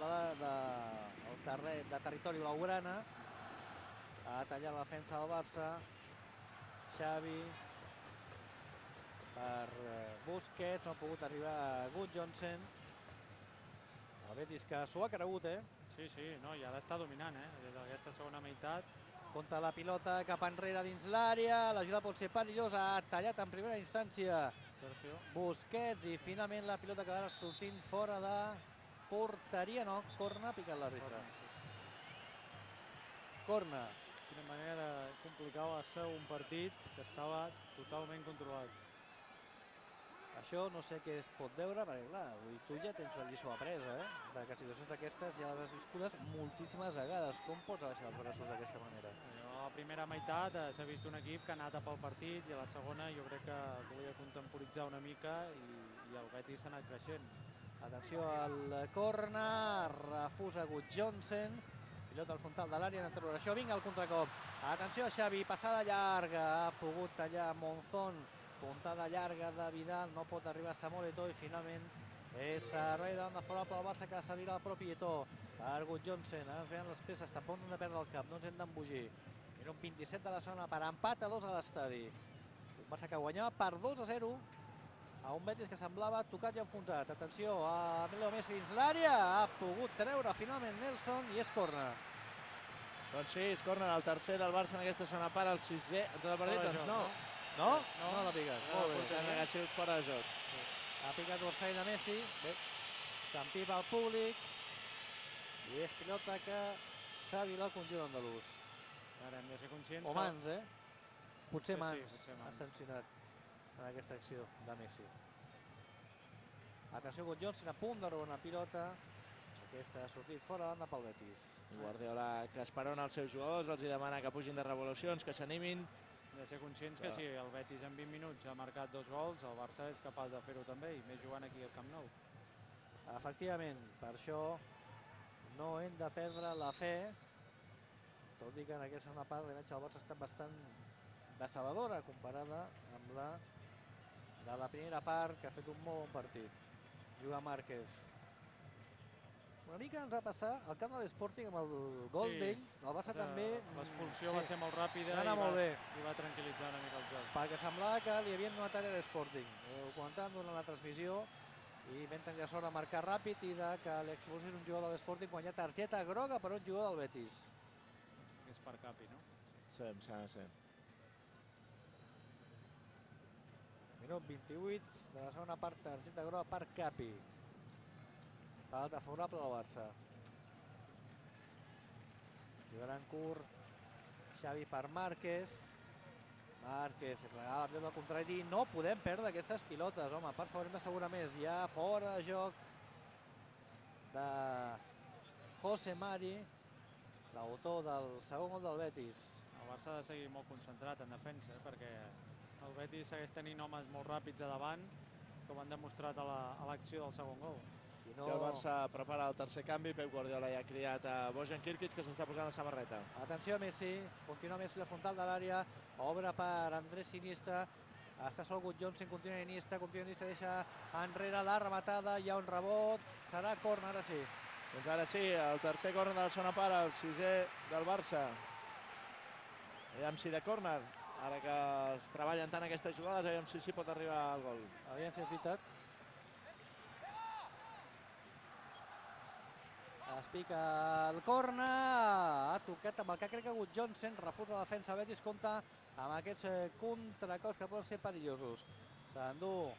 de territori blaugrana. Ha tallat la defensa del Barça. Xavi per Busquets, no ha pogut arribar a Gudjohnsen. El Betis que s'ho ha cregut, eh? Sí, sí, no, i ha d'estar dominant, eh? Des d'aquesta segona meitat. Compta la pilota cap enrere dins l'àrea, la jugada pot ser perillosa, ha tallat en primera instància Busquets i finalment la pilota que va sortint fora de porteria, no, corna, ha picat l'àrbitre. Corna. Quina manera de complicar va ser un partit que estava totalment controlat. Això no sé què es pot veure, perquè clar, tu ja tens la lliçó apresa, eh? De que situacions d'aquestes ja les has viscudes moltíssimes vegades. Com pots abaixar els braços d'aquesta manera? A la primera meitat s'ha vist un equip que ha anat a pel partit i a la segona jo crec que volia contemporitzar una mica i el Betis s'ha anat creixent. Atenció al corna, refusa Gudjohnsen, pilota al frontal de l'àrea, en interrogació, vinga el contracop. Atenció a Xavi, passada llarga, ha pogut tallar Monzón. Puntada llarga de Vidal, no pot arribar a Samuel Eto'o i finalment és servei davant de favorable al Barça que servirà el propi Eto'o per Gudjohnsen. Ara ens veuen les peces, està a punt de perdre el cap, no ens hem d'embogir. Minut vint-i-set de la segona per empat a dos a l'estadi. Un Barça que guanyava per dos a zero a un Betis que semblava tocat i enfonsat. Atenció a Leo Messi dins l'àrea, ha pogut treure finalment Nelson i és corna. Doncs sí, és corna, el tercer del Barça en aquesta segona part, el sisè en tot el partit, doncs no. No? No l'ha picat. Molt bé, ha sigut fora de joc. Ha picat l'orsai de Messi. Bé, s'empipa el públic. I és pilota que s'ha violat el conjunt andalús. Ara hem de ser conscients. O mans, eh? Potser Sí, mans potser mans. ha sancionat en aquesta acció de Messi. Atenció, Gudjohnsen a punt de robar una pilota. Aquesta ha sortit fora de pel Betis. Guardiola que esperona els seus jugadors, els demana que pugin de revolucions, que s'animin. Hem de ser conscients que si el Betis en vint minuts ha marcat dos gols, el Barça és capaç de fer-ho també, i més jugant aquí al Camp Nou. Efectivament, per això no hem de perdre la fe, tot i que en aquesta segona part l'imatge del Barça ha estat bastant decebedora comparada amb la de la primera part, que ha fet un molt bon partit. Juga Márquez. Una mica ens va passar al camp de l'Sporting amb el gol d'ells, el Barça també... L'expulsió va ser molt ràpida i va tranquil·litzar una mica el joc. Perquè semblava que li havien donat àrea a l'Sporting. Ho comentàvem durant la transmissió i vam tenir la sort de marcar ràpid i que l'expulsió és un jugador de l'Sporting quan hi ha targeta groga per un jugador del Betis. És per Capi, no? Sí, em sembla que sí. Minut vint-i-vuit de la segona part, targeta groga per Capi. Falta favorable del Barça. Jugaran curt. Xavi per Márquez. Márquez regala la pilota al contrari. No podem perdre aquestes pilotes, home. Per favor, hem d'assegurar més. Ja fora de joc de José Mari, l'autor del segon gol del Betis. El Barça ha de seguir molt concentrat en defensa, perquè el Betis segueix tenint homes molt ràpids a davant com han demostrat a l'acció del segon gol. I el Barça prepara el tercer canvi. Pep Guardiola ja ha criat a Bojan Kirkic, que s'està posant la samarreta. Atenció a Messi, continua Messi la frontal de l'àrea, obre per Andrés Iniesta, està sol Good Johnson, continua Iniesta, continua Iniesta, deixa enrere la rematada, hi ha un rebot, serà córner, ara sí. Doncs ara sí, el tercer córner de la segona part, el sisè del Barça. Aviam si de córner, ara que es treballen tant aquestes jugades, aviam si sí pot arribar al gol. Aviam si és veritat. Es pica el córner, ha tocat amb el que crec que Good Johnson, refusa la defensa Betis, compta amb aquests contracops que poden ser perillosos. S'endú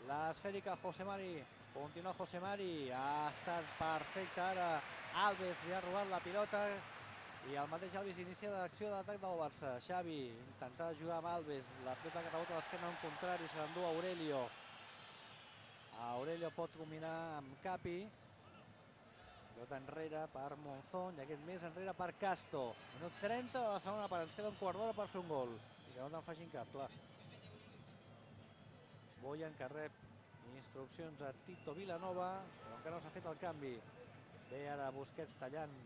l'esfèrica José Mari, continua José Mari, ha estat perfecte ara, Alves li ha robat la pilota i el mateix Alves inicia l'acció d'atac del Barça. Xavi intenta jugar amb Alves, la pilota que rebota a l'esquena en contrari, se l'endú Aurelio. Aurelio pot combinar amb Capi. Pilota enrere per Monzón i aquest més enrere per Casto. Minut trenta de la segona part, ens queda un quart d'hora per fer un gol. I que no te'n facin cap, clar. Bojan que rep instruccions a Tito Vilanova, però encara no s'ha fet el canvi. Ve ara Busquets tallant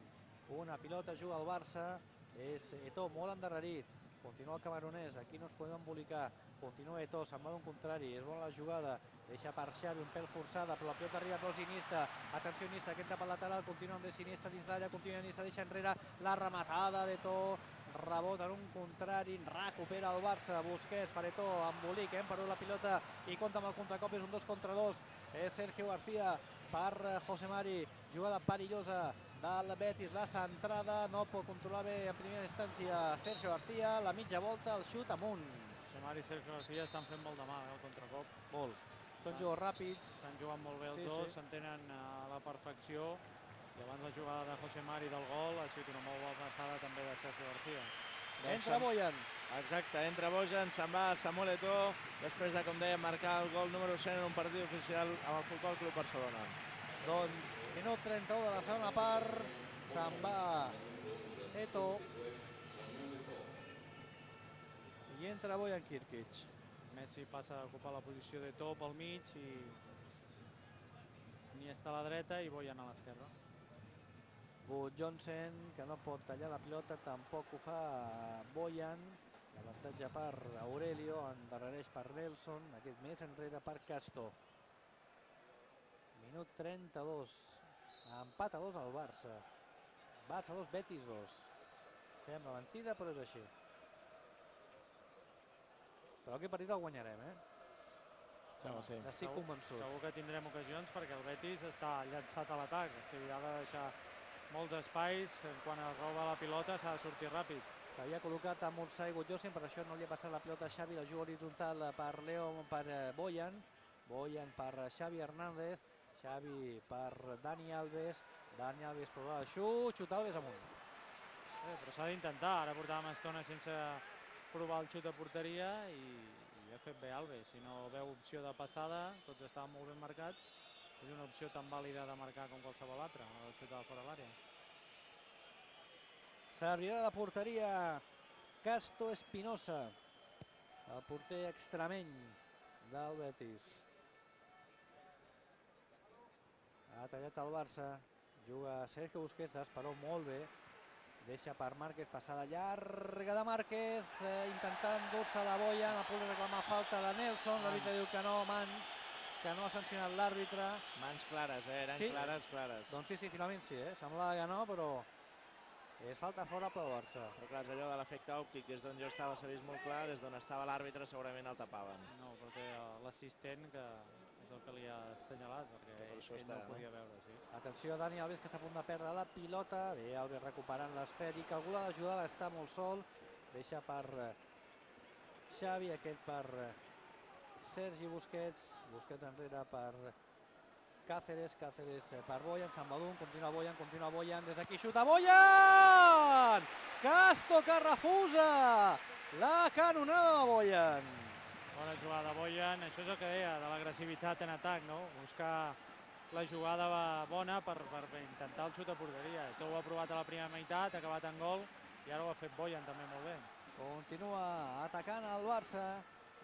una pilota, juga al Barça, és Eto'o molt endarrerit. Continua el camaronès, aquí no es podem embolicar. Continua Eto'o, se'n va d'un contrari, és bona la jugada. Deixa per Xavi, un pèl forçada, però la pilota arriba a Iniesta. Atenció Iniesta, que entra pel lateral, continua amb Iniesta dins l'àrea, continua Iniesta, deixa enrere la rematada d'Eto'o. Rebot en un contrari, recupera el Barça, Busquets per Eto'o, embolic, hem perdut la pilota i compta amb el contracop, és un dos contra dos. És Sergio García per José Mari, jugada perillosa del Betis, la centrada, no pot controlar bé en primera instància Sergio García, la mitja volta, el xut amunt. José Mari i Sergio García estan fent molt de mal, el contracop. Molt. Són jugadors ràpids. Estan jugant molt bé els dos, s'entenen a la perfecció. I abans la jugada de José Mari del gol ha sigut una molt bona passada també de Sergio García. Entra Bojan. Exacte, entra Bojan, se'n va Samuel Eto'o, després de, com dèiem, marcar el gol número cent en un partit oficial amb el Futbol Club Barcelona. Doncs minut trenta-u de la segona part, se'n va Eto'o i entra Bojan Kirkic. Messi passa a ocupar la posició d'Eto'o pel mig i Iniesta a la dreta i Bojan a l'esquerra. Good Johnson, que no pot tallar la pilota, tampoc ho fa Bojan. L'avantatge per Aurelio, endarrereix per Nelson, aquest més enrere per Casto. Minut trenta-dos, empat a dos al Barça. Barça dos, Betis dos. Sembla mentida, però és així. Però aquest partit el guanyarem, eh? Sembla, sí. Estic convençut. Segur que tindrem ocasions perquè el Betis està llançat a l'atac. O sigui, ha de deixar molts espais, quan es roba la pilota s'ha de sortir ràpid. Havia col·locat a Mursai Good Johnson, per això no li ha passat la pilota a Xavi, la juga horitzontal per Leo, per Bojan. Bojan per Xavi Hernández, Xavi per Dani Alves, Dani Alves prova el xut, xut Alves amunt. Eh, però s'ha d'intentar, ara portàvem estona sense provar el xut a porteria i, i ha fet bé Alves. Si no veu opció de passada, tots estaven molt ben marcats, és una opció tan vàlida de marcar com qualsevol altra, el xut de fora de l'àrea. Servirà de porteria Casto Espinosa, el porter extremeny del Betis. Ha tallat el Barça, juga Sergio Busquets, esperó molt bé, deixa per Márquez, passada llarga de Márquez, eh, intentant dur-se la boia, a punt de reclamar falta de Nelson, l'àrbitre diu que no, mans, que no ha sancionat l'àrbitre. Mans clares, eh? Eren sí? clares, clares. Doncs sí, sí, finalment sí, eh? Semblava que no, però és falta fora pel Barça. Però clar, és allò de l'efecte òptic, des d'on jo estava s'ha vist molt clar, des d'on estava l'àrbitre segurament el tapaven. No, però té l'assistent que és el que li ha assenyalat, perquè ell, ell no ho podia veure. Sí. Atenció a Dani Alves, que està a punt de perdre la pilota. Bé, Alves recuperant l'esfèric. Algú l'ha d'ajudar, està molt sol. Deixa per Xavi, aquest per Sergi Busquets. Busquets enrere per Cáceres, Cáceres per Bojan, se'n va d'un, continua Bojan, continua Bojan, des d'aquí xuta Bojan! Casto que refusa la canonada de Bojan. Bona jugada de Bojan, això és el que deia, de l'agressivitat en atac, no? Buscar la jugada bona per, per intentar el xut a porteria. Tot ho ha provat a la primera meitat, ha acabat en gol i ara ho ha fet Bojan també molt bé. Continua atacant el Barça.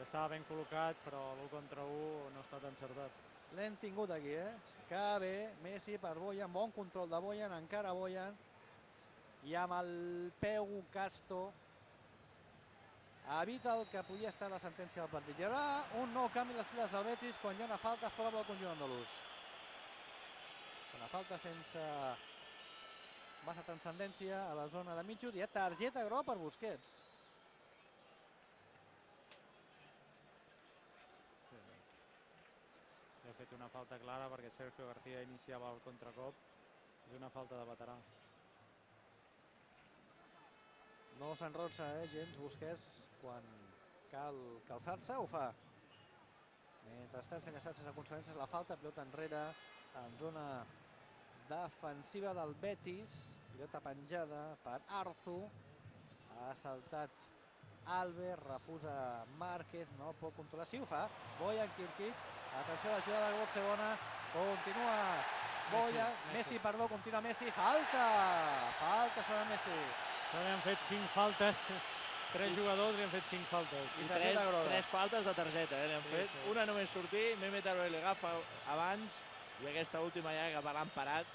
que estava ben col·locat, però l'u contra u no ha estat encertat. L'hem tingut aquí, eh? Que bé, Messi per Boyan, bon control de Boyan, encara Boyan. I amb el peu Casto evita el que podia estar la sentència del partit. Hi haurà un nou canvi a les files del Betis quan hi ha una falta fora del conjunt andalús. Una falta sense massa transcendència a la zona de mitjos. Hi ha targeta groga per Busquets. Ha fet una falta clara perquè Sergio García iniciava el contracop. És una falta de veterà. No s'enrotza, eh, gens Busquets. Quan cal calçar-se, ho fa. Mentrestant s'ha llançat sense conseqüències la falta, pilota enrere en zona defensiva del Betis. Pilota penjada per Arzu. Ha saltat Alves, refusa Márquez, no pot controlar. Sí, ho fa. Boyan, Kirkic. Atenció a la jugada de gol segona. Continua Boyan. Messi, Messi, perdó, continua Messi. Falta! Falta sobre Messi. S'han fet cinc faltes. Tres jugadors li han fet cinc faltes. I tres, tres faltes de targeta, eh, li han sí, fet. Sí. Una només sortir, Mehmet Aroel agafa abans i aquesta última ja que l'han parat.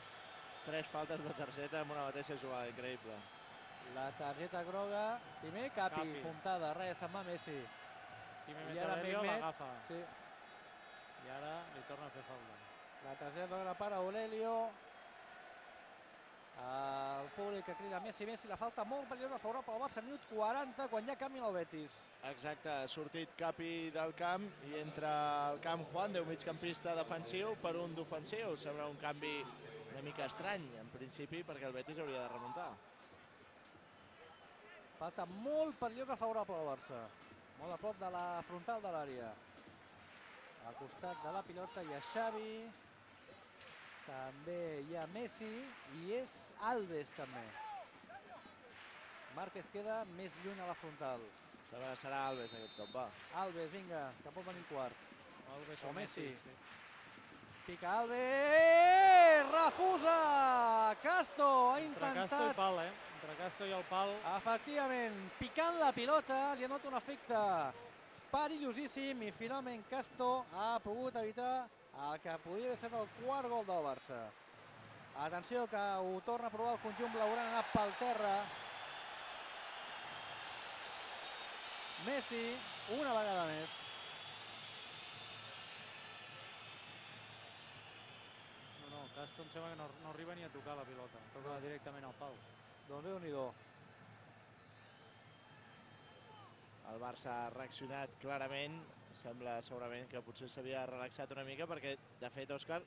Tres faltes de targeta amb una mateixa jugada, increïble. La targeta groga, primer Capi, Capi. puntada, res, se'n va Messi. I Mehmet Aurelio l'agafa. Sí. I ara li torna a fer falta. La targeta groga per Aurelio. El públic que crida Messi, Messi, la falta molt perillosa favorable al Barça, minut quaranta, quan ja canvia el Betis. Exacte, ha sortit Capi del camp i entra al camp Juan, de un migcampista defensiu per un d'ofensiu. Sembla un canvi una mica estrany, en principi, perquè el Betis hauria de remuntar. Falta molt perillosa favorable al Barça. Molt a prop de la frontal de l'àrea. Al costat de la pilota hi ha Xavi. També hi ha Messi i és Alves també. Márquez queda més lluny a la frontal. Sembla que serà Alves aquest cop, va. Alves, vinga, que pot venir quart. Alves o Messi. Pica Alves, refusa! Casto ha intentat... Entre Casto i pal, eh? Entre Casto i el pal. Efectivament, picant la pilota, li ha donat un efecte perillosíssim i finalment Casto ha pogut evitar el que podia ser el quart gol del Barça. Atenció que ho torna a provar el conjunt blaugrana, ha anat pel terra. Messi, una vegada més. No, no, Casto em sembla que no, no arriba ni a tocar la pilota, toca directament al pal. Doncs Déu-n'hi-do. El Barça ha reaccionat clarament. Sembla segurament que potser s'havia relaxat una mica perquè, de fet, Òscar,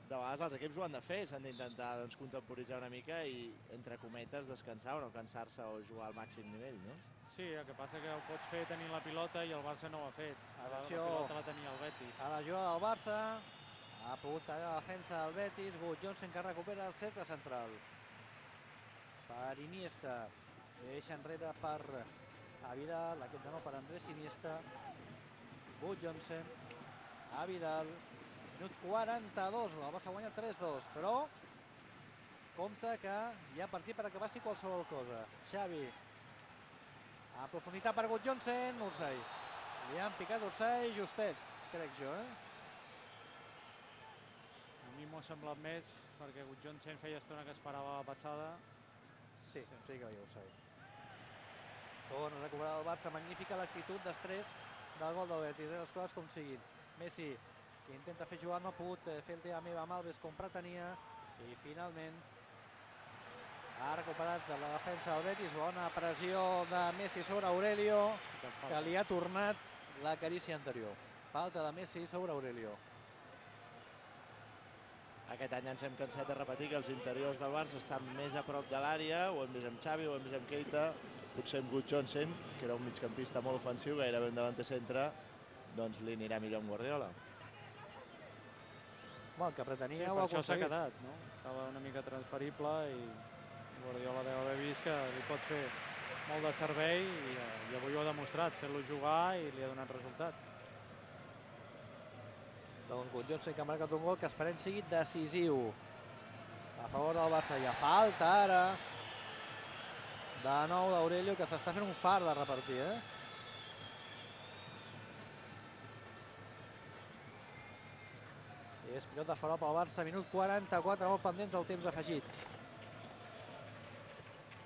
de vegades els equips ho han de fer, s'han d'intentar doncs, contemporitzar una mica i, entre cometes, descansar o no cansar-se o jugar al màxim nivell, no? Sí, el que passa que ho pots fer tenint la pilota i el Barça no ho ha fet. Atenció, la pilota la tenia el Betis. A la jugada del Barça, ha pogut tallar la defensa del Betis, Wout Johnson que recupera el cercle central. Per Iniesta, deixa enrere per a Vidal, aquest de nou per Andrés Iniesta. Wout Johnson, a Vidal, minut quaranta-dos, el Barça guanya tres dos, però compte que hi ha partit per acabar-s'hi qualsevol cosa. Xavi, a profunditat per Wout Johnson, Ursay. Li han picat Ursay, justet, crec jo, eh? A mi m'ho ha semblat més, perquè Wout Johnson feia estona que esperava la passada. Sí, sí, sí que hi ha Ursay. Torna a recuperar el Barça, magnífica l'actitud després del gol del Betis, eh? Les coses com siguin. Messi, que intenta fer jugar, no ha pogut fer el tema meva amb Alves com pretenia, i finalment ha recuperat la defensa del Betis. Bona pressió de Messi sobre Aurelio, que li ha tornat la carícia anterior. Falta de Messi sobre Aurelio. Aquest any ens hem cansat de repetir que els interiors del Barça estan més a prop de l'àrea, ho hem vist amb Xavi, ho hem vist amb Keita, potser amb Wout Johnson, que era un migcampista molt ofensiu, gairebé un davanter centre, doncs li anirà millor amb Guardiola. Bueno, el que pretenia sí, ho ha aconseguit. Per això s'ha quedat, no? Estava una mica transferible i Guardiola deu haver vist que li pot fer molt de servei i, i avui ho ha demostrat, fer-lo jugar i li ha donat resultat. Doncs Wout Johnson que ha marcat un gol que esperem sigui decisiu a favor del Barça. Hi ha falta ara de nou d'Aurelio, que s'està fent un far de repartir, eh? És pilota fora pel Barça, minut quaranta-quatre, molt pendents del temps afegit.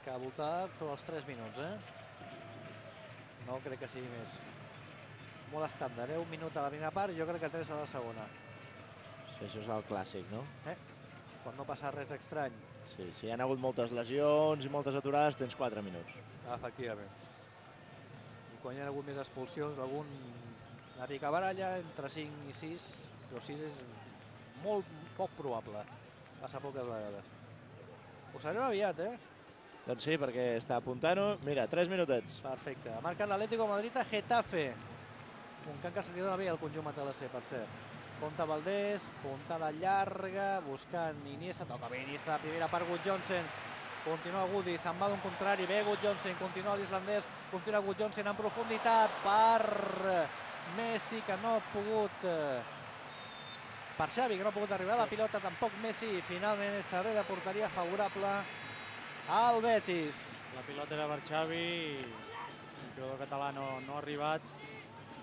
Que ha voltat sobre els tres minuts, eh? No crec que sigui més. Molt estàndard, eh? Un minut a la primera part i jo crec que tres a la segona. Sí, això és el clàssic, no? Eh? Quan no passa res estrany. Sí, si hi ha hagut moltes lesions i moltes aturades, tens quatre minuts. Efectivament. I quan hi ha hagut més expulsions, algun una picabaralla entre cinc i sis, però sis és molt poc probable. Passa poques vegades. Ho sabrem aviat, eh? Doncs sí, perquè està apuntant-ho. Mira, tres minutets. Perfecte. Ha marcat l'Atlético de Madrid a Getafe. Un camp que se li dona bé al conjunt matalasser, per cert. Compte Valdés, puntada llarga, buscant Iniesta, toca bé Iniesta de primera per Gudjohnsen. Continua Gudi, se'n va d'un contrari, bé Gudjohnsen, continua l'islandès, continua Gudjohnsen en profunditat per Messi, que no ha pogut... Per Xavi, que no ha pogut arribar a la pilota, tampoc Messi, i finalment és servei de porteria favorable al Betis. La pilota era per Xavi, el jugador català no, no ha arribat,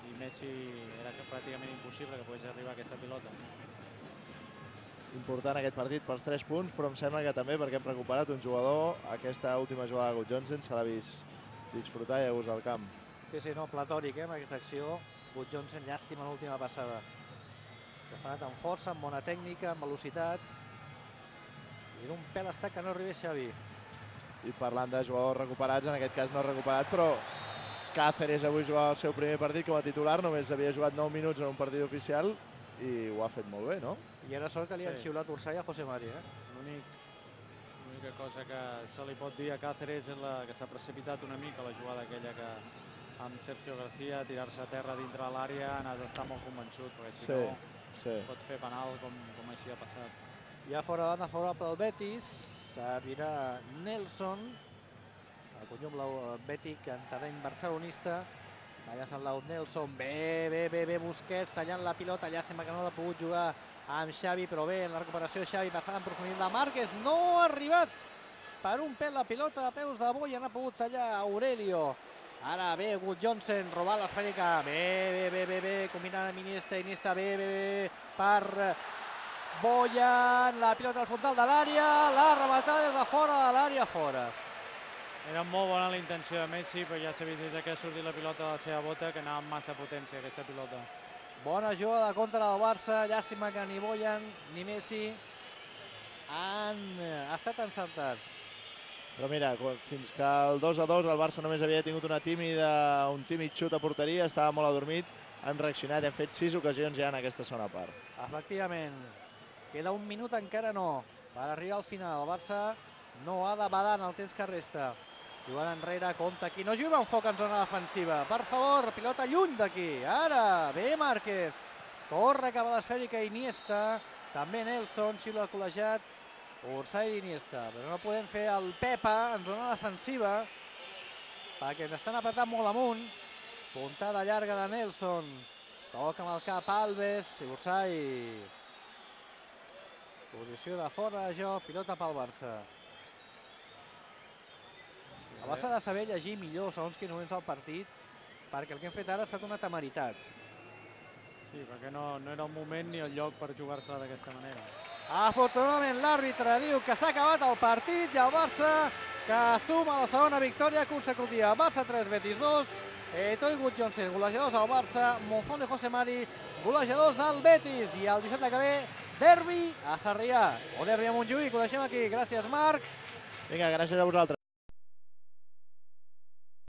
i Messi era pràcticament impossible que pogués arribar a aquesta pilota. Important aquest partit pels tres punts, però em sembla que també perquè hem recuperat un jugador. Aquesta última jugada de Gudjohnsen se l'ha vist disfrutar i a gust del camp. Sí, sí, no, platòric, eh, amb aquesta acció. Gudjohnsen, llàstima l'última passada. Que s'ha anat amb força, amb bona tècnica, amb velocitat. I d'un pèl està que no arribés Xavi. I parlant de jugadors recuperats, en aquest cas no ha recuperat, però Cáceres avui jugava el seu primer partit com a titular, només havia jugat nou minuts en un partit oficial i ho ha fet molt bé, no? I ara sort que li han Sí. xiulat Ursay a José Mari, eh? L'única cosa que se li pot dir a Cáceres és la, que s'ha precipitat una mica la jugada aquella que amb Sergio García, tirar-se a terra dintre l'àrea, n'has d'estar molt convençut, perquè si Sí, no sí. pot fer penal com, com així ha passat. Ja fora de banda favorable al Betis, servirà Nelson, el conjunt blau bètic en terreny barcelonista. Allà se'n l'au Nelson, bé, bé, bé, bé, Busquets, tallant la pilota, llàstima que no l'ha pogut jugar amb Xavi, però bé, en la recuperació de Xavi, passant en profunditat de Márquez, no ha arribat per un pèl la pilota de peus de Boia, n'ha pogut tallar Aurelio. Ara bé, Gudjohnsen, robar l'esfèrica, bé, bé, bé, bé, bé, combinant amb Iniesta, Iniesta, bé, bé, bé, per Bojan, la pilota al frontal de l'àrea, la rematada des de fora de l'àrea, fora. Era molt bona la intenció de Messi, però ja s'ha vist des que ha sortit la pilota de la seva bota que anava amb massa potència aquesta pilota. Bona jugada contra del Barça, llàstima que ni Bojan ni Messi han estat encertats. Però mira, fins que el dos a dos el Barça només havia tingut una tímida, un tímid xut a porteria, estava molt adormit, han reaccionat i han fet sis ocasions ja en aquesta segona part. Efectivament, queda un minut encara no, per arribar al final. El Barça no ha de badar en el temps que resta. Jugant enrere, compte aquí, no juga un foc en zona defensiva, per favor, pilota lluny d'aquí, ara, bé Márquez, corre cap a l'esfèrica Iniesta, també Nelson, xiula col·legiat, Ursay d'Iniesta, però no podem fer el Pepa en zona defensiva, perquè ens estan apretant molt amunt, puntada llarga de Nelson, toca amb el cap Alves, Ursay, posició de fora de joc, pilota pel Barça. El Barça ha de saber llegir millor segons quins moments del partit, perquè el que hem fet ara ha estat una temeritat. Sí, perquè no, no era el moment ni el lloc per jugar-se d'aquesta manera. Afortunadament l'àrbitre diu que s'ha acabat el partit i el Barça que suma la segona victòria consecutiva. Barça tres, Betis dos, Eto'o i Gudjohnsen, golejadors del Barça, Monzón i José Mari, golejadors del Betis. I el dissabte que ve, derbi a Sarrià, o derbi a Montjuïc, ho deixem aquí. Gràcies, Marc. Vinga, gràcies a vosaltres.